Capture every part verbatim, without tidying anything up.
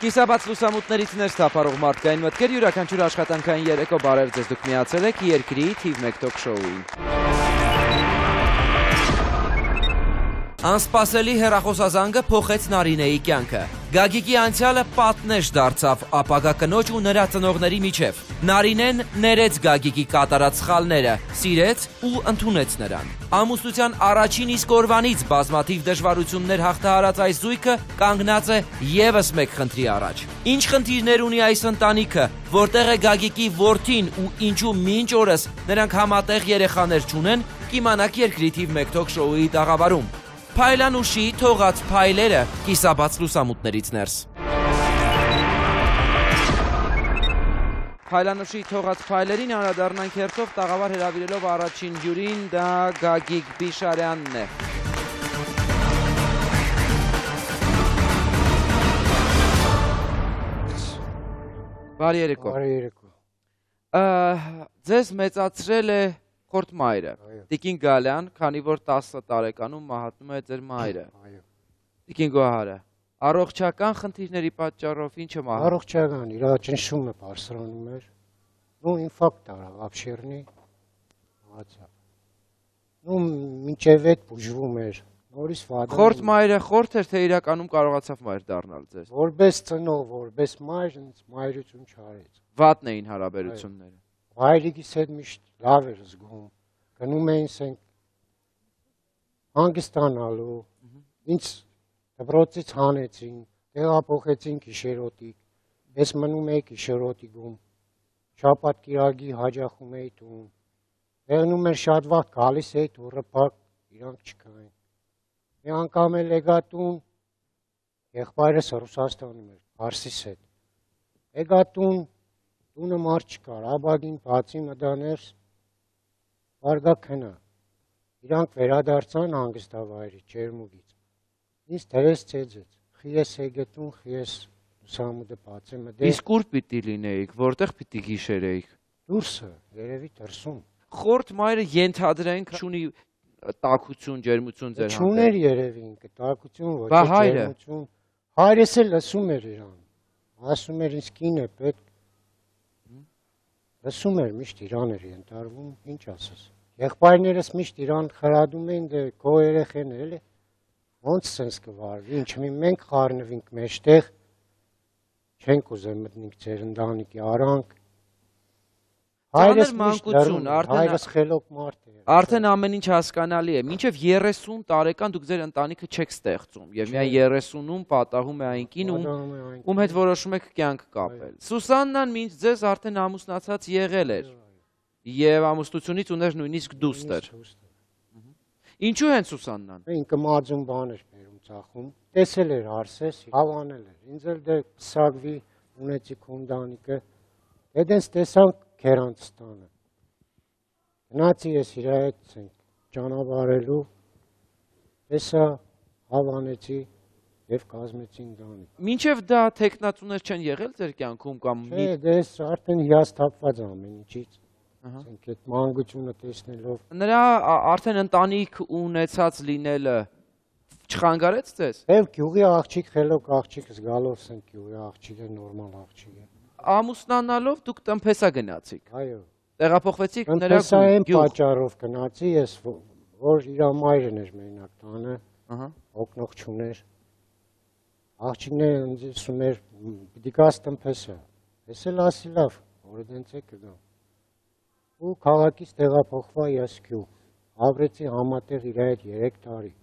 Կիսաբաց լուսամուտներից ներս թափառող մարդկային մտքեր յուրաքանչյուր աշխատանքային երեկո բարև ձեզ դուք միացել եք երկրի թիվ մեկ թոք շոուին։ Անսպասելի հեռախոսազանգը փոխեց Նարինեի կյանքը։ Գագիկի անցյալը պատնեշ դարձավ ապագա կնոջ ու նրա ծնողների միջև։ Նարինեն ներեց Գագիկի կատարած սխալները, սիրեց ու ընդունեց նրան։ Ամուսնության առաջին իսկ օրվանից բազմաթիվ դժվարություններ հաղթահարած այս զույգը կանգնած է ևս մեկ խնդրի առաջ։ Ինչ խնդիրներ ունի այս ընտանիքը, որտեղ է Գագիկի որդին ու ինչու մինչ օրս նրանք համատեղ երեխաներ չունեն, կիմանաք երկրի թիվ մեկ թոք շոուի տաղավարում։ Փայլանուշի թողած փայլերը կիսաբաց լուսամուտներից ներս։ Փայլանուշի թողած փայլերին անդրադառնանք հերթով տաղավար հրավիրելով առաջին հյուրին, դա Գագիկ Բիշարյանն է։ Բարի երեկո։ Բարի երեկո։ Ձեզ մեծացրել է Խորտ մայրը, Տիկին Գալյան, քանի որ տասը տարեկանում մահացնում է ձեր մայրը։ Տիկին Գոհարը, առողջական խնդիրների պատճառով ինչը մահացավ։ Առողջական, իր ճնշումը բարձրանում էր, ու ինֆարկտ արավ, աբշերնի մահացավ։ Ու մինչև այդ բուժվում էր, նորից վադանում։ Խորտ մայրը խորտ էր, թե իրականում կարողացավ մայր դառնալ ձեզ։ Որպես ծնող, որպես մայր, ինձ մայրություն չարեց։ Վատն էին հարաբերությունները։ Հայրիկիս հետ միշտ լավ էր զգում, գնում էին սենք հանգստանալու, ինձ դպրոցից հանեցին, տեղափոխեցին Կիշերոտիկ, ես մնում էի Կիշերոտիկում, շաբաթ կիրակի հաճախում էի տուն, եղնում էր շատ վաղ գալիս էի դուռը փակ, իրանք չկային։ Մի անգամ էլ եկա տուն, եղբայրս Ռուսաստանում էր, Փարսիս հետ։ Եկա տուն, տունը մարդ չկար, աբագին բացի մտաներ, վարգա քնա, իրանք վերադարձան հանգստավայրի ջերմուկից, ինձ դրես ծեծեց, խիես եգետուն, խիես լուսամուտը բացե մտե։ Իսկ ուր պիտի լինեիք, որտեղ պիտի գիշերեիք։ Դուրսը, երևի դրսում։ Խորտ մայրը ենթադրենք չունի տաքություն, ջերմություն ձեր հանդեպ։ Չուներ երևի ինքը, տաքություն, ոչ Բա հայրը։ ջերմություն։ Հայրս էլ լսում էր իրան, ասում էր ինձ կին է պետք։ Լսում էր, միշտ իրան էր ենթարկվում, ինչ ասես։ Եղբայրներս միշտ իրան խրադում էին, դե քո երեխեն էլ է, ոնց սենց կվարվի, ինչ մի մենք խառնվինք մեջտեղ, չենք ուզել մտնենք ձեր ընտանիքի արանք։ Հայրս մանկություն, հայրս խելոք մարդ է։ Արդեն ամեն ինչ հասկանալի է, մինչև երեսուն տարեկան դուք ձեր ընտանիքը չեք ստեղծում, եւ միայն երեսունում պատահում է այն կին, ում հետ որոշում եք կյանք կապել։ Սուսաննան մինչ ձեզ արդեն ամուսնացած եղել էր, եւ ամուսնությունից ուներ նույնիսկ դուստր։ Ինչու են Սուսաննան։ Ինքը մածուն բան էր բերում ծախում, տեսել էր Արսես, հավանել էր, ինձ էլ դե սագվի ունեցի քունդանիկը, դենց տեսանք Քերանցստանը։ Գնացի ես իր հետ ճանապարհելու, տեսա, հավանեցի եւ կազմեցի ընտանիք։ Մինչեւ դա տեխնացուներ չեն եղել ձեր կյանքում կամ Չէ, դες արդեն հիասթափված ամեն ինչից։ Ասենք այդ մանկությունը տեսնելով։ Նրա արդեն ընտանիք ունեցած լինելը չխանգարեց ձեզ։ Եվ գյուղի աղջիկ, խելոք աղջիկ զգալով սենք գյուղի աղջիկը նորմալ աղջիկ է։ Ամուսնանալով դուք տնփեսա գնացիք։ Այո։ Տեղափոխվեցիք նրա գյուղ։ Պատճառով գնացի ես, որ իր մայրն էր մենակ տանը, օգնող չուներ։ Աղջիկները ինձ ասում էր, պիտի գաս տնփեսա։ Ես էլ ասի լավ, որ դենց է կգամ։ Ու քաղաքից տեղափոխվա ես գյուղ։ Ապրեցի համատեղ իր հետ երեք տարի։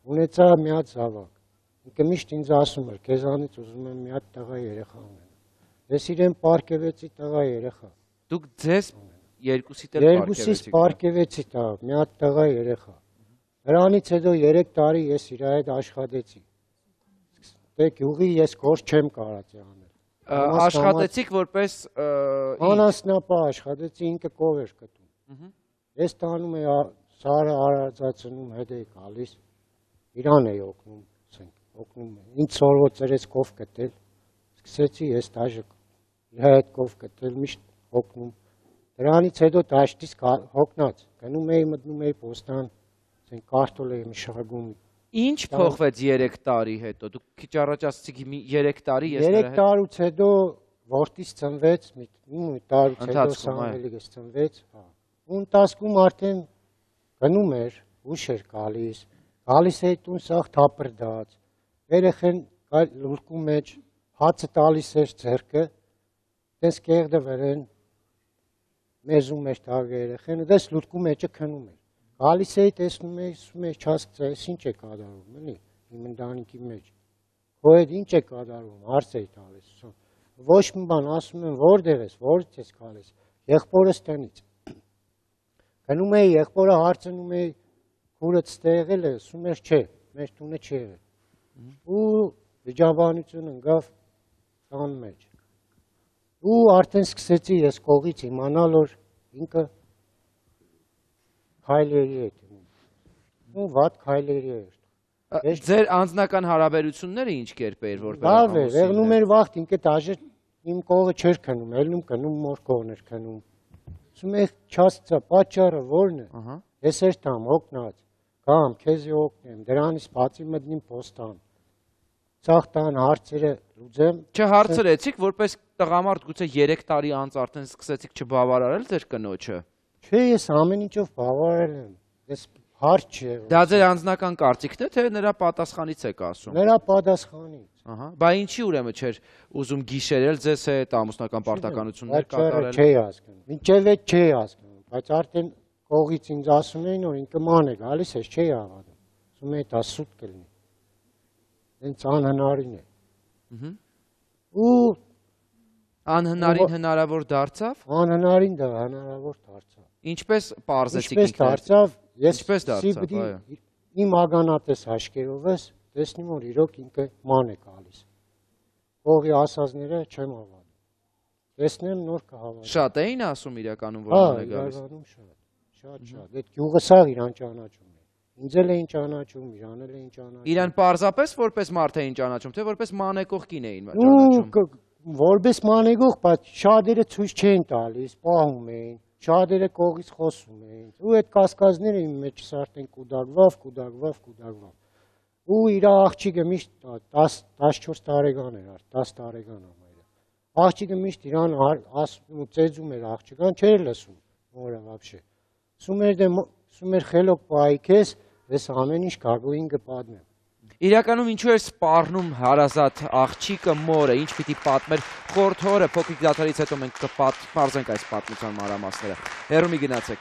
Ունեցա մի հատ զավակ։ Ինքը միշտ ինձ ասում էր, քեզանից ուզում եմ մի հատ տղա երեխա ունենալ։ Ես իրեն պարկևեցի տղա երեխա։ Դուք ձեզ երկուսիդ էլ Երկուսից պարկևեցի տղա, մի հատ տղա երեխա։ Դրանից հետո երեք տարի ես իր հետ աշխատեցի։ Դե գյուղի ես գործ չեմ կարած անել։ Աշխատեցիք որպես անասնապահ աշխատեցի, ինքը կով էր կտում։ Ես տանում էի սարը արածացնում, հետ էի գալիս, իրան էի օգնում, օգնում։ Ինձ սորվոց ծրեց կով կտել, սկսեցի ես դաժը իր հետ կով կտել, միշտ հոգնում։ Դրանից հետո դաշտից հոգնած, գնում էի մտնում էի պոստան, կարտոլ էի մշակում, Ինչ փոխվեց երեք տարի հետո։ Դուք քիչ առաջ ասացիք երեք տարի ես նրա հետ։ երեք տարուց հետո որդիս ծնվեց, մի տարուց հետո Սամվելիկս ծնվեց, հա։ Ու ընթացքում արդեն գնում էր, ուշ էր գալիս, գալիս էր տուն սաղ թափրդած, երեխեն լուրկու մեջ հացը տալիս էր ձեռքը, դες կեղդը վրեն, մեզում էր տագ երեխեն, դες լուրկու մեջը քնում էր։ Գալիս էի տեսնում էի, ասում էի չհասկացա, ինչ է կատարվում, էլի, իմ ընտանիքի մեջ։ Քո հետ ինչ է կատարվում, հարց էի տալիս, ոչ մի բան, ասում եմ, որտեղ ես, որից ես գալիս, եղբորս տնից։ Գնում էի, եղբորը հարցնում էի, քուրդ ստեղել է, ասում էր չէ, մեր տունը չի եղել։ Ու վիճաբանություն ընկավ տան մեջ։ Ու արդեն սկսեցի ես կողից իմանալ, որ ինքը քայլերի է դնում։ Ու վատ քայլերի էր։ Ձեր անձնական հարաբերությունները ինչ կերպ էր, որ լավ էր, եղնում էր վաղտ, ինքը դաժե իմ կողը չէր քնում, ելնում կնում մոր կողն էր քնում։ Ասում եք չասցա, պատճառը որն է։ Ես էր տամ օգնած, գամ, քեզի օգնեմ, դրանից բացի մտնիմ պոստան։ Ցախ տան հարցերը լուծեմ։ Չհարցրեցիք, որպես տղամարդ գուցե երեք տարի անց արդեն սկսեցիք չբավարարել ձեր կնոջը։ Չէ, ես ամեն ինչով բավարարել եմ։ Ես հարց չէ։ Դա ձեր անձնական կարծիքն է, թե նրա պատասխանից եք ասում։ Նրա պատասխանից։ Ահա, բա ինչի ուրեմն չէր ուզում գիշերել ձեզ հետ ամուսնական պարտականություններ կատարել։ Չէի հասկանում։ Մինչև այդ չէի հասկանում, բայց արդեն կողից ինձ ասում էին, որ ինքը ման է գալիս, ես չէի հավատում։ Ասում էի դա սուտ կլինի։ Հենց անհնարին է։ Ու անհնարին հնարավոր դարձավ։ Անհնարին դա հնարավոր դարձավ։ Ինչպես պարզեցիք ինքներդ։ Ինչպես դարձավ, ես ինչպես դարձավ, այո։ Իմ ագանատես հաշկերովս տեսնում որ իրոք ինքը ման է գալիս։ Կողի ասածները չեմ հավատում։ Տեսնեմ նոր կհավատամ։ Շատ էին ասում իրականում որ ման է գալիս։ Հա, իրականում շատ, շատ շատ։ Այդ գյուղը սաղ իրան ճանաչում է։ Ինձ էլ էին ճանաչում, իրան էլ էին ճանաչում։ Իրան պարզապես որպես մարդ էին ճանաչում, թե որպես մանեկող կին էին ճանաչում։ Որպես մանեկող, բայց շատերը ցույց չէին տալիս, պահում էին, շատերը կողից խոսում էին։ Ու այդ կասկածները իմ մեջս արդեն կուդակվավ, կուդակվավ, կուդակվավ։ Ու իր աղջիկը միշտ տասնչորս տարեկան էր, դաս տարեկան ամայրը։ Աղջիկը միշտ իրան ասում ու ծեծում էր աղջիկան, չէր լսում, որը вообще։ Ասում էր դե ասում էր խելոք պահի քեզ, ես ամեն ինչ գագույն կպատմեմ։ Իրականում ինչու էր սպառնում հարազատ աղջիկը մորը, ինչ պիտի պատմեր խորթ հորը, փոքրիկ դադարից հետո մենք կպարզենք այս պատմության մանրամասները։ Հեռու մի գնացեք։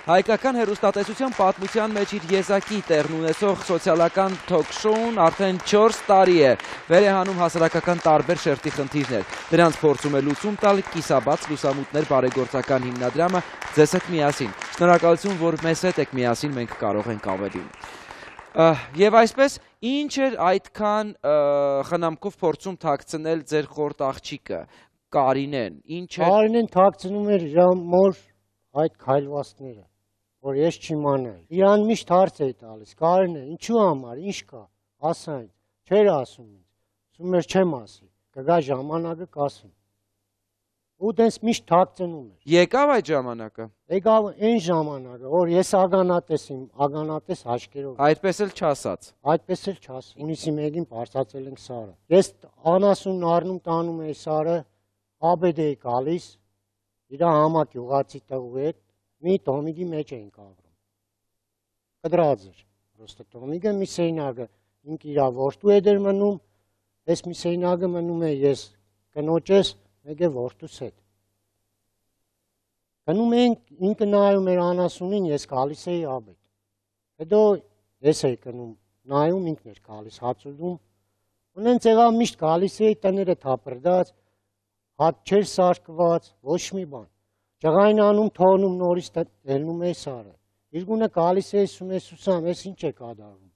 Հայկական հեռուստատեսության պատմության մեջ իր եզակի տեղն ունեցող սոցիալական թոք-շոուն արդեն չորս տարի է վեր է հանում հասարակական տարբեր շերտի խնդիրներ։ Դրանց փորձում է լուծում տալ կիսաբաց լուսամուտներ բարեգործական հիմնադրամը ձեզ հետ միասին։ Շնորհակալություն, որ մեզ հետ եք միասին, մենք կարող ենք ավելի։ Եվ այսպես, ինչ էր այդքան խնամքով փորձում թաքցնել ձեր խորտ աղջիկը, Կարինեն, ինչ էր։ Կարինեն թաքցնում էր իր մոր այդ քայլվածները, որ ես չիմանայի։ Իրան միշտ հարց էի տալիս, Կարինե, ինչու համար, ինչ կա, ասա ինձ, չէր ասում ինձ, ասում էր չեմ ասի, կգա ժամանակը կասեմ։ Ու դες միշտ թաքցնում էր։ Եկավ այդ ժամանակը։ Եկավ այն ժամանակը, որ ես ագանատես իմ, ագանատես հաշկերով։ Այդպես էլ չասած։ Այդպես էլ չասած։ Հունիսի մեկին բարձրացել ենք Սարը։ Ես անասունն առնում տանում էի Սարը, աբեդ էի գալիս, իր համակյուղացի տղու հետ մի տոմիկի մեջ էինք ապրում։ Կդրած էր։ Պրոստը տոմիկը մի սեյնագը ինք իր որդու հետ էր մնում, ես մի սեյնագը մնում է ես կնոջես մեկ է որդուս հետ։ Գնում էինք, ինքը նայում էր անասունին, ես գալիս էի աբեդ։ Հետո ես էի գնում, նայում ինքն էր գալիս, հացուդում։ Ունենց եղավ միշտ գալիս էի տները թափրդած, հատ չէր սարկված, ոչ մի բան։ Ջղային անում թողնում նորից ելնում էի Սարը։ Իրգունը գալիս էի ասում է Սուսան, ես ինչ է կատարվում։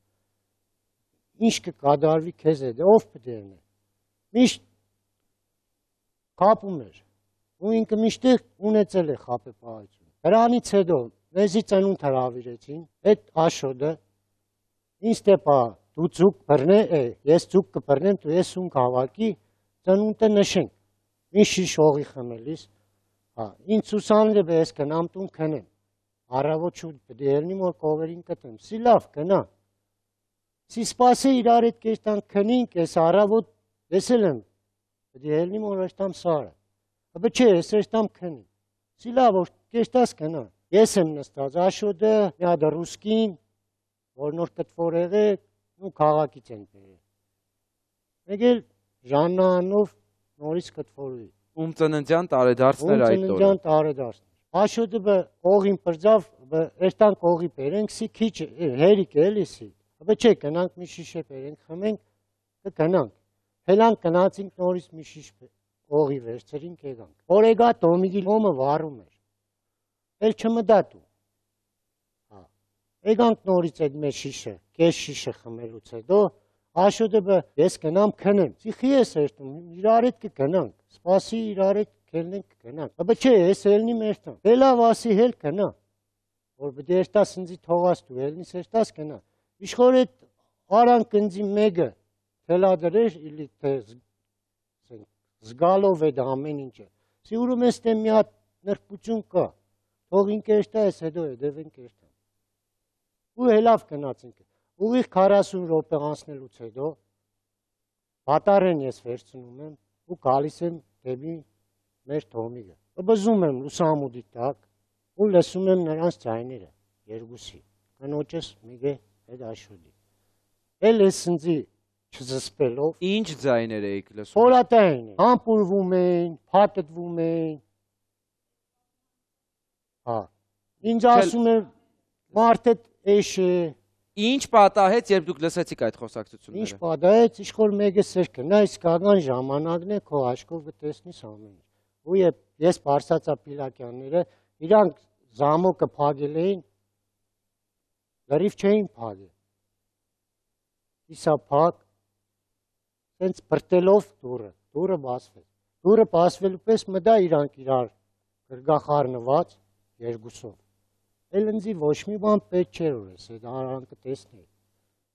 Ինչ կկատարվի քեզ հետ, ով պտերն է։ Միշտ խապում էր։ Ու ինքը միշտ ունեցել է խապեպահություն։ Դրանից հետո մեզի ծնունդ հրավիրեցին, այդ Աշոդը ինձ տեպա դու ձուկ բռնե, ես ձուկ կբռնեմ, դու ես ուն հավաքի, ծնունդը նշենք։ Մի շիշ հողի խմելիս, ինձ Սուսանն է ես կնամ տուն քնեմ, առավոտ շուտ պետք է ելնի, որ կովերին կտեմ։ Սի լավ կնա։ Սի սպասե իրար հետ կեստան քնինք, ես առավոտ եսել եմ, պետք է ելնի, որ աշտամ սարը։ Աբը չէ, ես աշտամ քնին։ Սի լավ, որ կեստաս կնա։ Ես եմ նստած, Աշոտը, մի հատ ռուսկին, որ նոր կտվոր եղեք, ու քաղաքից են բերել։ Մեկ էլ Ժաննանով նորից կտվորուի։ Ում ծննդյան տարեդարձներ այդ օրը։ Ում ծննդյան տարեդարձներ։ Աշոտը բը օղին պրձավ, բը էստանք օղի բերենք, սի քիչ հերիք էլի սի։ Բը չէ, կնանք մի շիշե բերենք, խմենք, կգնանք։ Հելանք գնացինք նորից մի շիշ օղի վերցրինք եկանք։ Որ եկա Տոմիկի լոմը վառում էր։ Էլ չմտա դու։ Հա։ Եկանք նորից այդ մեր շիշը, կես շիշը խմելուց հետո Աշոտը բը ես կնամ քնեմ։ Սիխի ես երթում, իրար հետ կգնանք։ Սպասի իրար հետ կելնենք կգնանք։ Աբը չէ, ես ելնի մեր տան։ Հելավ ասի հել կնա։ Որ բդե երտաս ինձի թողաս դու, ելնիս երտաս կնա։ Իշխոր այդ արան կնձի մեկը թելադրեր, իլի թե զգալով էդ ամեն ինչը։ Սիուրում ես թե մի հատ նրբություն կա։ Թող ինք երտա ես հետո հետևենք երտան։ Ու հելավ կնացինք։ Ուղիղ քառասուն րոպե անցնելուց հետո բատարեն ես վերցնում եմ ու գալիս եմ դեպի մեր Թոմիկը։ Բզում եմ լուսամուտի տակ ու լսում եմ նրանց ձայները երկուսի։ Կնոջս մեկ է այդ Աշոտի։ Էլ ես ինձի չզսպելով Ինչ ձայներ էիք լսում։ Փորատային են, համբուրվում էին, փաթթվում էին։ Հա։ Ինձ ասում են մարդը էշ է։ Ինչ պատահեց, երբ դուք լսեցիք այդ խոսակցությունները։ Ինչ պատահեց, իշխոր մեկը սերքը, նա իսկական ժամանակն է, քո աչքով կտեսնիս ամեն ինչ։ Ու ես Բարսացա Պիլակյանները, իրանք զամոկը փակել էին, լրիվ չէին փակել։ Իսա փակ, սենց բրտելով դուրը, դուրը բացվեց։ Դուրը բացվելու պես մտա իրանք իրար գրգախառնված երկուսով։ Էլ ինձի ոչ մի բան պետք չէր որ ես այդ արանքը տեսնեի։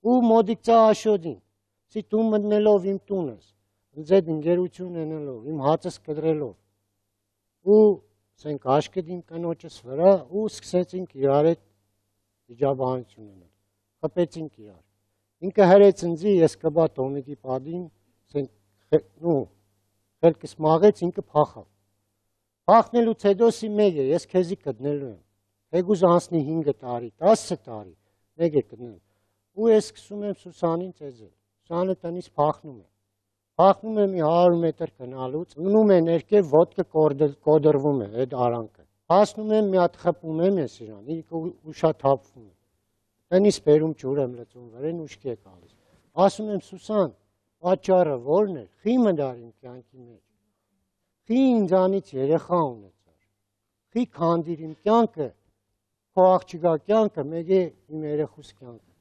Ու մոդիկ ծա Աշոտին, սի դու մտնելով իմ տունս, ինձ այդ ընկերություն ունենալով, իմ հացս կտրելով։ Ու սենք աշկետ իմ կնոջս վրա ու սկսեցինք իրար հետ վիճաբանություն ունել։ Խփեցինք իրար։ Ինքը հրեց ինձի, ես կբա Տոմիկի պատին, սենք նու խելքս մաղեց, ինքը փախավ։ Փախնելուց հետո սի մեկ է, ես քեզի գտնելու եմ։ Եգուզ անցնի հինգ տարի, տասը տարի, մեկ է գտնել։ Ու ես սկսում եմ Սուսանին ծեզել։ Սուսանը տնից փախնում է։ Փախնում է մի հարյուր մետր գնալուց, մնում է ներքև ոտքը կոդրվում է այդ արանքը։ Հասնում եմ մի հատ խփում եմ ես իրան, ինքը ուշաթափվում է։ Տնից բերում ջուր եմ լցում վրեն ուշքի է գալիս։ Ասում եմ Սուսան, պատճառը ո՞րն է։ Խի մդար իմ կյանքի մեջ։ Խի ինձանից երեխա ունեցար։ Խի քանդիր իմ կյանքը։ Քո աղջիկա կյանքը, մեկ է իմ երեխուս կյանքը։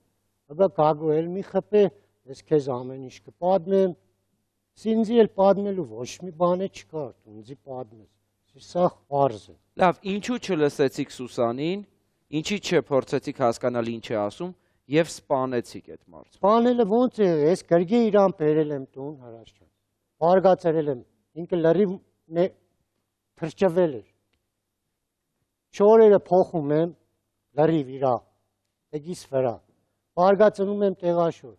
Աբա գագու էլ մի խփե, ես քեզ ամեն ինչ կպատմեմ։ Ինձի էլ պատմելու ոչ մի բան չկար, դու ինձի պատմես։ Սա պարզ է։ Լավ, ինչու չլսեցիք Սուսանին, ինչի չփորձեցիք հասկանալ ինչ է ասում եւ սպանեցիք այդ մարդը։ Սպանելը ոնց է, ես գրգի իրան բերել եմ տուն հրաշ ջան։ Բարգացրել եմ, ինքը լրիվ թրջվել էր։ Շորերը փոխում եմ, լրիվ իրա, տեգիս վրա, բարգացնում եմ տեղաշոր,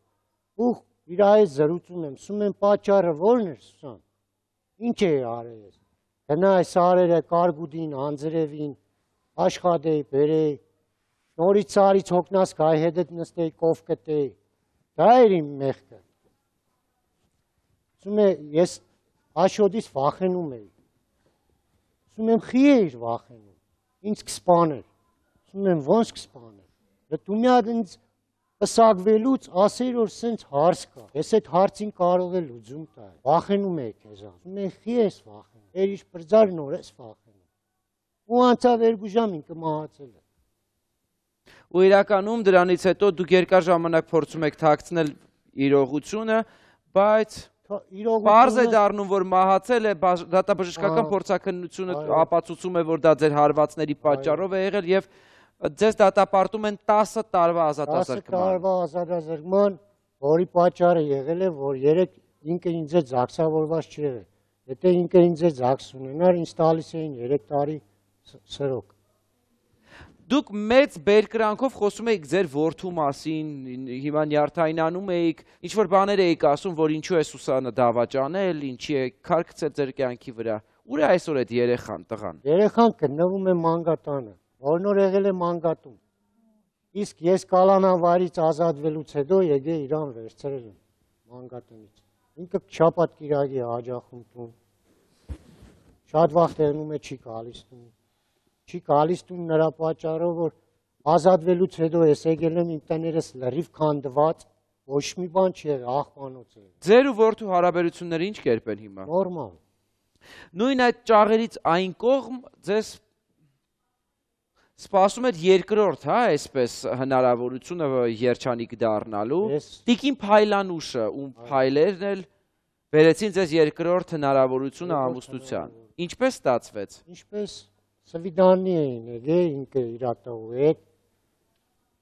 ու իրա հետ զրուցում եմ, սում եմ պատճառը ո՞րն էր Սուսան, ինչ է արել ես, գնա այս արերը կարգուդին, անձրևին, աշխատեի, բերեի, նորից սարից հոգնաս կայ հետդ նստեի, կով կտեի, դա էր իմ մեղքը, սում է, ես Աշոտից վախենում էի, սում եմ խի էիր վախենում, ինձ կսպաներ, սում եմ ոնց կսպաներ, դու մի հատ ինձ պսակվելուց ասեիր, որ սենց հարց կա, ես այդ հարցին կարող է լուծում տալ, վախենում էի քեզան, սում եմ խի ես վախենում, էր իշ պրձար նոր ես վախենում, ու անցավ երկու ժամ ինքը մահացել է։ Ու իրականում դրանից հետո դուք երկար ժամանակ փորձում եք թաքցնել իրողությունը, բայց Պարզ է դառնում, որ մահացել է, դատաբժշկական փորձաքննությունը ապացուցում է, որ դա ձեր հարվածների պատճառով է եղել եւ ձեզ դատապարտում են տասը տարվա ազատազրկման։ տասը տարվա ազատազրկման, որի պատճառը եղել է, որ երեք ինքը ինձ է զաքսավորված չեղել։ Եթե ինքը ինձ է զաքս ունենար, ինձ տալիս էին երեք տարի սրոք։ Դուք մեծ բերկրանքով խոսում եք ձեր որդու մասին, հիմա նյարդայնանում էիք, ինչ-որ բաներ էիք ասում, որ ինչու է Սուսանը դավաճանել, ինչի է քարքցել ձեր կյանքի վրա։ Ուր է այսօր այդ երեխան, տղան։ Երեխան գտնվում է մանգատանը, որնոր եղել է մանգատում։ Իսկ ես կալանավարից ազատվելուց հետո եկե իրան վերցրել եմ մանգատնից։ Ինքը շաբաթ կիրակի հաջախում տուն։ Շատ վաղ տեղնում է չի գալիս տուն։ Չի գալիս տուն նրա պատճառով, որ ազատվելուց հետո ես եկել եմ իմ տներս լրիվ քանդված, ոչ մի բան չի եղել, աղբանոց է։ Ձեր ու որդու հարաբերությունները ինչ կերպ են հիմա։ Նորմալ։ Նույն այդ ճաղերից այն կողմ ձեզ սպասում էր երկրորդ, հա, այսպես հնարավորությունը երջանիկ դառնալու։ Տիկին Փայլանուշը, ում փայլերն էլ բերեցին ձեզ երկրորդ հնարավորությունը ամուսնության։ Ինչպես ստացվեց։ Ինչպես սվիդանի էին եկել ինքը իր տղու հետ։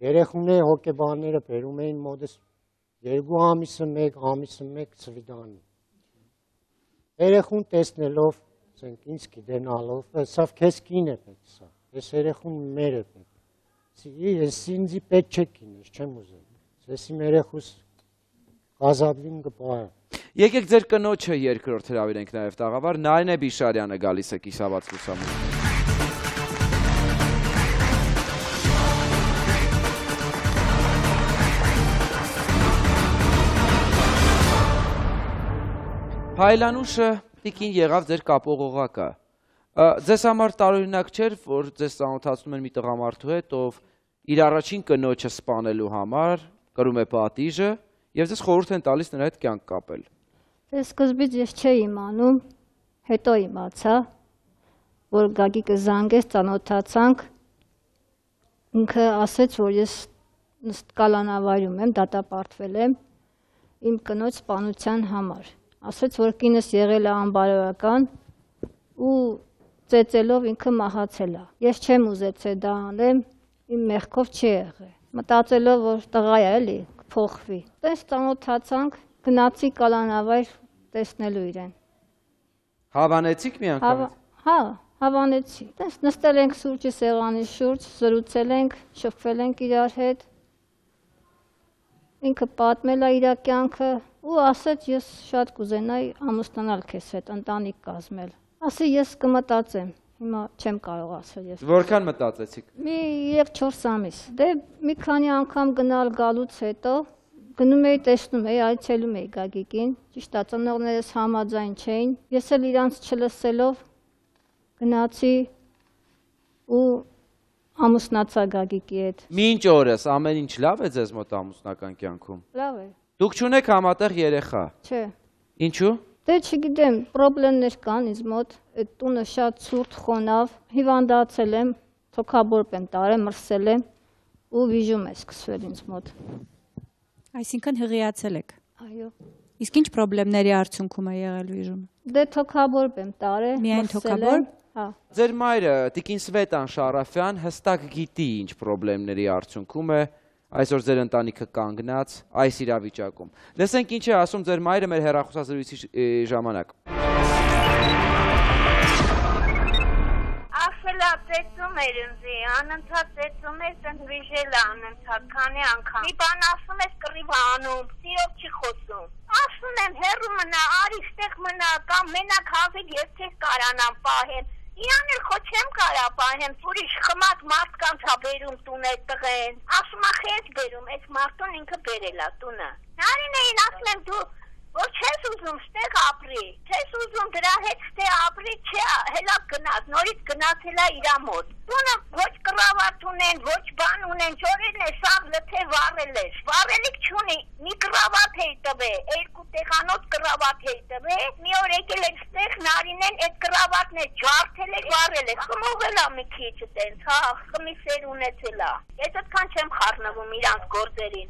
Երեխուները հոգեբանները բերում էին մոտս երկու ամիսը մեկ, ամիսը մեկ սվիդանի։ Երեխուն տեսնելով, ասենք ինձ գիտենալով, սա քեզ կին է պետք սա։ Ես երեխուն մեր է պետք։ Ես ինձի պետք չէ կինես, չեմ ուզում։ Ես իմ երեխուս ազատվին կպահեմ։ Եկեք ձեր կնոջը երկրորդ հրավիրենք նաև տաղավար, Նարինե Բիշարյանը գալիս է կիսաբաց լուսամուտից։ Փայլանուշը տիկին եղավ ձեր կապողողակը։ Ձեզ համար տարօրինակ չէր, որ ձեզ ծանոթացնում են մի տղամարդու հետ, ով իր առաջին կնոջը սպանելու համար կրում է պատիժը եւ ձեզ խորհուրդ են տալիս նրա հետ կյանք կապել։ Դե սկզբից ես չէի իմանում, հետո իմացա, որ Գագիկը զանգեց, ծանոթացանք, ինքը ասեց, որ ես կալանավարում եմ, դատապարտվել եմ իմ կնոջ սպանության համար։ Ասեց, որ կինս եղել է անբարոյական ու ծեծելով ինքը մահացել է։ Ես չեմ ուզեցել դա անեմ, իմ մեղքով չի եղել։ Մտածելով, որ տղա է էլի, կփոխվի։ Տես ծանոթացանք, գնացի կալանավայր տեսնելու իրեն։ Հավանեցիք մի անգամ։ Հա, հավանեցի։ Տես նստել ենք սուրճի սեղանի շուրջ, զրուցել ենք, շփվել ենք իրար հետ։ Ինքը պատմել է իր կյանքը ու ասեց, ես շատ կուզենայի ամուսնանալ քեզ հետ, ընտանիք կազմել։ Ասի ես կմտածեմ, հիմա չեմ կարող ասել ես։ Որքան մտածեցիք։ Մի երեք չորս ամիս։ Դե մի քանի անգամ գնալ գալուց հետո գնում էի, տեսնում էի, այցելում էի Գագիկին, ճիշտ է, ծնողներս համաձայն չէին։ Ես էլ իրանց չլսելով գնացի ու ամուսնացա Գագիկի հետ։ Մինչ օրս ամեն ինչ լավ է ձեզ մոտ ամուսնական կյանքում։ Լավ է։ Դուք չունեք համատեղ երեխա։ Չէ։ Ինչու։ Դե չգիտեմ, պրոբլեմներ կան ինձ մոտ, այդ տունը շատ ցուրտ խոնավ, հիվանդացել եմ, թոքաբորբ եմ տարել, մրսել եմ ու վիժում է սկսվել ինձ մոտ։ Այսինքն հղիացել եք։ Այո։ Իսկ ինչ պրոբլեմների արդյունքում է եղել վիժումը։ Դե թոքաբորբ եմ տարել, միայն թոքաբորբ։ Հա։ Ձեր մայրը տիկին Սվետան Շարաֆյան հստակ գիտի ինչ պրոբլեմների արդյունքում է այսօր ձեր ընտանիքը կանգնած այս իրավիճակում։ Լսենք ինչ է ասում ձեր մայրը մեր հեռախոսազրույցի ժամանակ։ Ասել է ծեծում էր ինձ, անընդհատ ծեծում էր, ցենց վիժել է անընդհատ, քանի անգամ։ Մի բան ասում ես կռիվ անում, սիրով չի խոսում։ Ասում եմ հեռու մնա, արի ստեղ մնա, կամ մենակ հավիք ես չես կարանամ պահեմ։ Իրան էլ խո չեմ կարա պահեմ, ուրիշ խմած մարդկանց հա բերում տուն է տղեն։ Ասում է խես բերում, այս մարդուն ինքը բերել է տունը։ Նարինեին ասում եմ դու որ չես ուզում ստեղ ապրի, չես ուզում դրա հետ ստեղ ապրի, չէ, հելա գնաց, նորից գնացել է իրա մոտ։ Տունը ոչ կռավատ ունեն, ոչ բան ունեն, ճորերն է սաղ լթե վառել էր, վառելիք չունի, մի կռավատ էի տվել, երկու տեղանոց կռավատ էի տվել, մի օր եկել էր ստեղ Նարինեն այդ կռավատն է ջարդել է, վառել է, խմողել է մի քիչ տենց, հա, խմի սեր ունեցել է։ Ես այդքան չեմ խառնվում իրանց գործերին։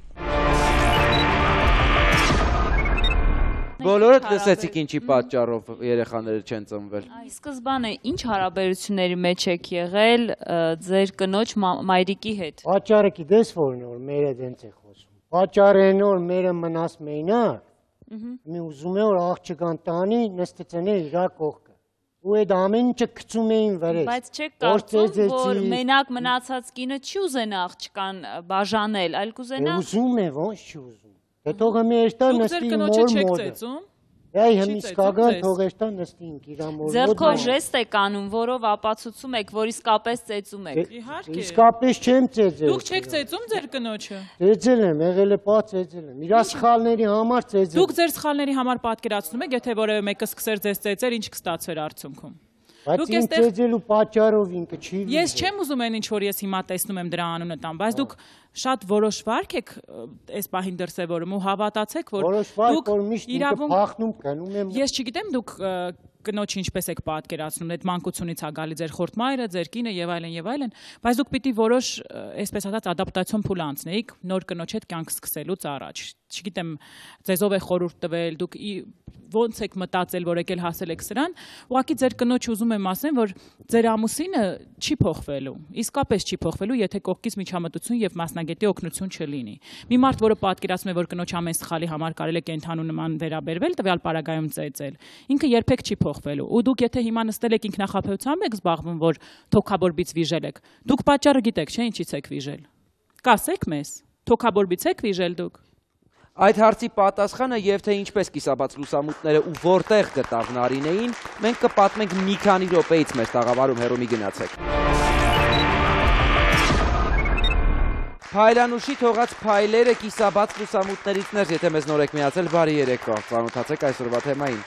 Բոլորդ լսեցիք ինչի պատճառով երեխաները չեն ծնվել։ Սկզբանը ինչ հարաբերությունների մեջ եք եղել ձեր կնոջ մայրիկի հետ։ Պատճառը գիտես որն է, որ մերը դենց է խոսում։ Պատճառը այն որ մերը մնաս մենակ, մի ուզում է որ աղջկան տանի նստեցնե իր կողքը։ ու այդ ամեն ինչը գցում էին վրես։ Բայց չեք կարծում, որ մենակ մնացած կինը չի ուզենա աղջկան բաժանել, այլ կուզենա։ Ուզում է, ոնց չի ուզում։ Դե թող մի էստա նստի մոր մորը։ Այ հիմիսկական թող էստա նստինք իր մոր։ Ձեռքով ժեստ եք անում, որով ապացուցում եք, որ իսկապես ծեծում եք։ Իհարկե։ Իսկապես չեմ ծեծել։ Դուք չեք ծեծում ձեր կնոջը։ Ծեծել եմ, եղել է պա ծեծել եմ։ Իր սխալների համար ծեծել։ Դուք ձեր սխալների համար պատկերացնում եք, եթե որևէ մեկը սկսեր ձեզ ծեծել, ինչ կստացվեր արդյունքում։ Բայց ինձ ծեծելու պատճառով ինքը չի։ Ես չեմ ուզում այն ինչ որ ես հիմա տեսնում եմ դրա անունը տամ, բայց դուք շատ որոշ վարք եք այս պահին դրսևորում ու հավատացեք, որ դուք իրավունք փախնում կանում եմ։ Ես չգիտեմ դուք կնոջ ինչպես եք պատկերացնում, այդ մանկությունից է գալի ձեր խորտ մայրը, ձեր կինը եւ այլն եւ այլն, բայց դուք պիտի որոշ, այսպես ասած, ադապտացիոն փուլ անցնեիք նոր կնոջ հետ կյանք սկսելուց առաջ։ Չգիտեմ, ձեզով է խորհուրդ տվել, դուք ոնց եք մտածել, որ եկել հասել եք սրան, ուղղակի ձեր կնոջ ուզում եմ ասեմ, որ ձեր ամուսինը չի փոխվելու, իսկապես չի փոխվելու, եթե կողքից միջամտություն եւ մասնագետի օգնություն չլինի։ Մի մարդ, որը պատկերացնում է, որ կնոջ ամեն սխալի համար կարելի է կենթանու նման վերաբերվել, տվյալ պարագայում ծեծել, ինքը երբեք չի փոխվելու։ Ու դուք եթե հիմա նստել եք ինքնախապեյությամբ եք զբաղվում, որ թոքաբորբից վիժել եք, դուք պատճառը գիտեք, չէ՞, ինչից եք վիժել։ Կասեք մեզ, թոքաբորբից եք վիժել դուք։ Այդ հարցի պատասխանը եւ թե ինչպես կիսաբաց լուսամուտները ու որտեղ գտավ Նարինեին, մենք կպատմենք մի քանի րոպեից մեր տաղավարում, հեռու մի գնացեք։ Փայլանուշի թողած փայլերը կիսաբաց լուսամուտներից ներս, եթե մեզ նոր եք միացել, բարի երեկո, ծանոթացեք այսօրվա թեմային։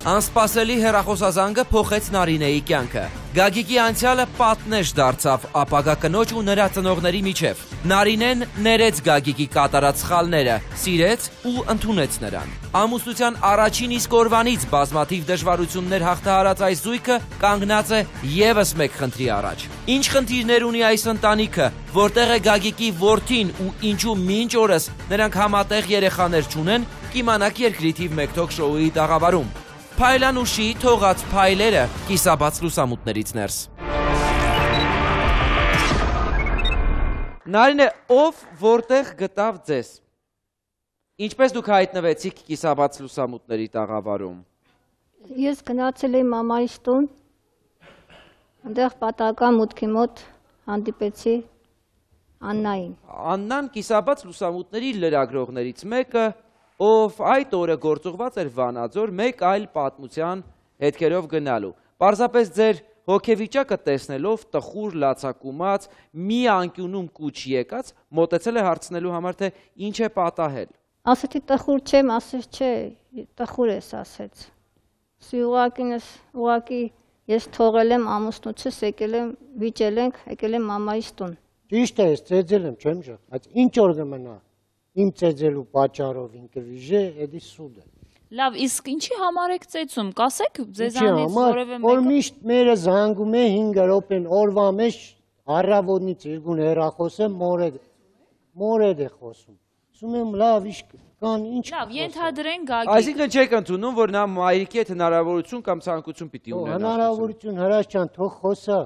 Անսպասելի հեռախոսազանգը փոխեց Նարինեի կյանքը։ Գագիկի անցյալը պատնեշ դարձավ ապագա կնոջ ու նրա ծնողների միջև։ Նարինեն ներեց Գագիկի կատարած սխալները, սիրեց ու ընդունեց նրան։ Ամուսնության առաջին իսկ օրվանից բազմաթիվ դժվարություններ հաղթահարած այս զույգը կանգնած է ևս մեկ խնդրի առաջ։ Ինչ խնդիրներ ունի այս ընտանիքը, որտեղ է Գագիկի որդին ու ինչու մինչ օրս նրանք համատեղ երեխաներ չունեն, կիմանաք երկրի թիվ մեկ թոք շոուի տաղավարում։ Փայլանուշի թողած փայլերը կիսաբաց լուսամուտներից ներս։ Նարինե, ով որտեղ գտավ ձեզ։ Ինչպես դուք հայտնվեցիք կիսաբաց լուսամուտների տաղավարում։ Ես գնացել էի մամայիս տուն, այնտեղ պատահական մուտքի մոտ հանդիպեցի Աննային։ Աննան կիսաբաց լուսամուտների լրագրողներից մեկը, ով այդ օրը գործուղված էր Վանաձոր մեկ այլ պատմության հետքերով գնալու։ Պարզապես ձեր հոգեվիճակը տեսնելով տխուր լացակումած, մի անկյունում կուչ եկած, մոտեցել է հարցնելու համար, թե ինչ է պատահել։ Ասեցի տխուր չեմ, ասեց չէ, տխուր ես ասեց։ Սի ուղակինս, ուղակի ես թողել եմ ամուսնուցս, եկել եմ, վիճել ենք, եկել եմ մամայիս տուն։ Ճիշտ է, ես ծեծել եմ, չեմ ժա, բայց ինչ օր կմնա։ Իմ ծեծելու պատճառով ինքը վիժե, էդի սուդ է։ Լավ, իսկ ինչի համար եք ծեծում, կասեք ձեզանից որևէ մեկը։ Որ միշտ մերը զանգում է հինգ րոպե օրվա մեջ առավոտից երկուն հեռախոսը մորեդ մորեդ է խոսում։ Ասում եմ լավ, իշ կան ինչ։ Լավ, ենթադրենք Գագիկ։ Այսինքն չեք ընդունում, որ նա մայրիկի հետ հնարավորություն կամ ցանկություն պիտի ունենա։ Հնարավորություն Հրաշ ջան, թող խոսա,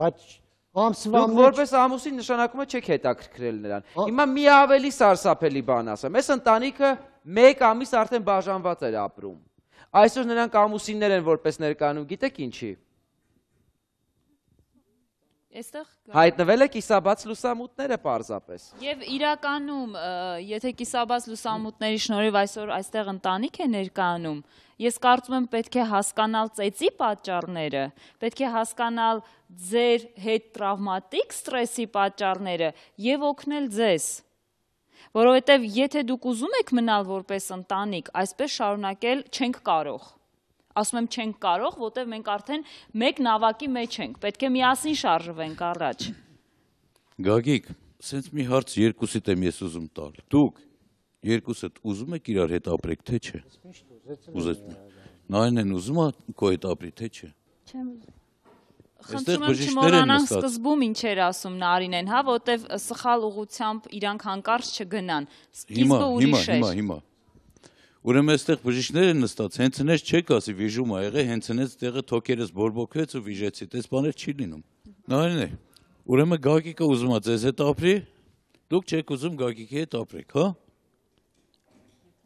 բայց ամսվա մեջ որպես ամուսին նշանակում է չեք հետաքրքրել նրան։ Հիմա մի ավելի սարսափելի բան ասեմ։ Այս ընտանիքը մեկ ամիս արդեն բաժանված էր ապրում։ Այսօր նրանք ամուսիններ են որպես ներկայանում, գիտեք ինչի։ Այստեղ հայտնվել է կիսաբաց լուսամուտները պարզապես։ Եվ իրականում, եթե կիսաբաց լուսամուտների շնորհիվ այսօր այստեղ ընտանիք է ներկայանում, ես կարծում եմ պետք է հասկանալ ծեծի պատճառները, պետք է հասկանալ ձեր հետ տրավմատիկ ստրեսի պատճառները եւ օգնել ձեզ։ Որովհետեւ եթե դուք ուզում եք մնալ որպես ընտանիք, այսպես շարունակել չենք կարող։ Ասում եմ չենք կարող, որտեղ մենք արդեն մեկ նավակի մեջ ենք, պետք է միասին շարժվենք առաջ։ Գագիկ, սենց մի հարց երկուսիդ եմ ես ուզում տալ։ Դուք երկուսդ ուզում եք իրար հետ ապրեք, թե չէ։ Ուզեցում եք։ Նայնեն ուզում է քո հետ ապրի, թե չէ։ Չեմ ուզում։ Խնդրում եմ չմոռանանք սկզբում ինչ էր ասում Նարինեն, հա, որտեղ սխալ ուղությամբ իրանք հանկարծ չգնան։ Սկիզբը ուրիշ էր։ Հիմա, հիմա, հիմա։ Ուրեմն այստեղ բժիշկներ են նստած, հենց նես չեք ասի վիժում ա եղել, հենց նես տեղը թոքերս բորբոքվեց ու վիժեցի, դες բաներ չի լինում։ Նայեն է։ Ուրեմն Գագիկը ուզում է ձեզ հետ ապրի, դուք չեք ուզում Գագիկի հետ ապրեք, հա։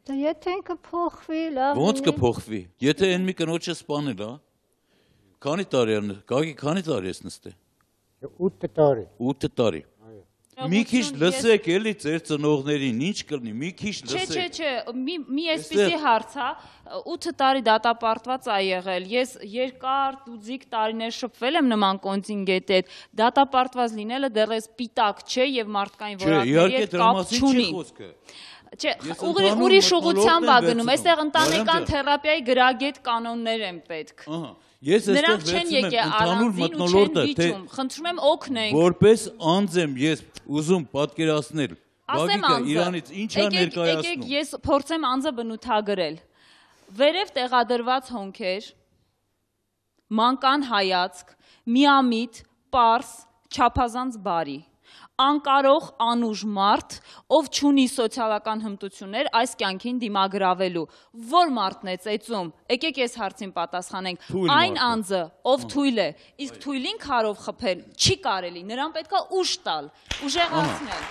Դա եթե ինքը փոխվի, լավ։ Ոնց կփոխվի։ Եթե այն մի կնոջը սպանել, հա։ Քանի տարի է, Գագիկ, քանի տարի ես նստել։ ութ տարի։ ութ տարի։ Մի քիչ լսեք էլի ձեր ծնողներին, ինչ կլինի, մի քիչ լսեք։ Չէ, չէ, չէ, մի մի այսպեսի հարց, հա, ութ տարի դատապարտված ա եղել։ Ես երկար դուձիկ տարիներ շփվել եմ նման կոնտինգենտի հետ։ Դատապարտված լինելը դեռ սպիտակ չէ եւ մարդկային որակների հետ կապ չունի։ Չէ, ուրիշ ուղղությամբ ա գնում։ Այստեղ ընտանեկան թերապիայի գրագետ կանոններ են պետք։ Ահա։ Ես Նրանք չեն եկել առանձին ու չեն վիճում, խնդրում եմ օգնենք։ Որպես անձ եմ ես ուզում պատկերացնել, Գագիկը Իրանից ինչ է ներկայացնում։ Եկեք ես փորձեմ անձը բնութագրել։ Վերև տեղադրված հոնքեր, մանկան հայացք, միամիտ, պարս, չափազանց բարի։ Անկարող անուժ մարդ, ով չունի սոցիալական հմտություններ այս կյանքին դիմագրավելու։ Որ մարդն է ծեծում, եկեք ես հարցին պատասխանենք։ Այն անձը, ով թույլ է, իսկ թույլին քարով խփել չի կարելի, նրան պետք է ուժ տալ, ուժեղացնել։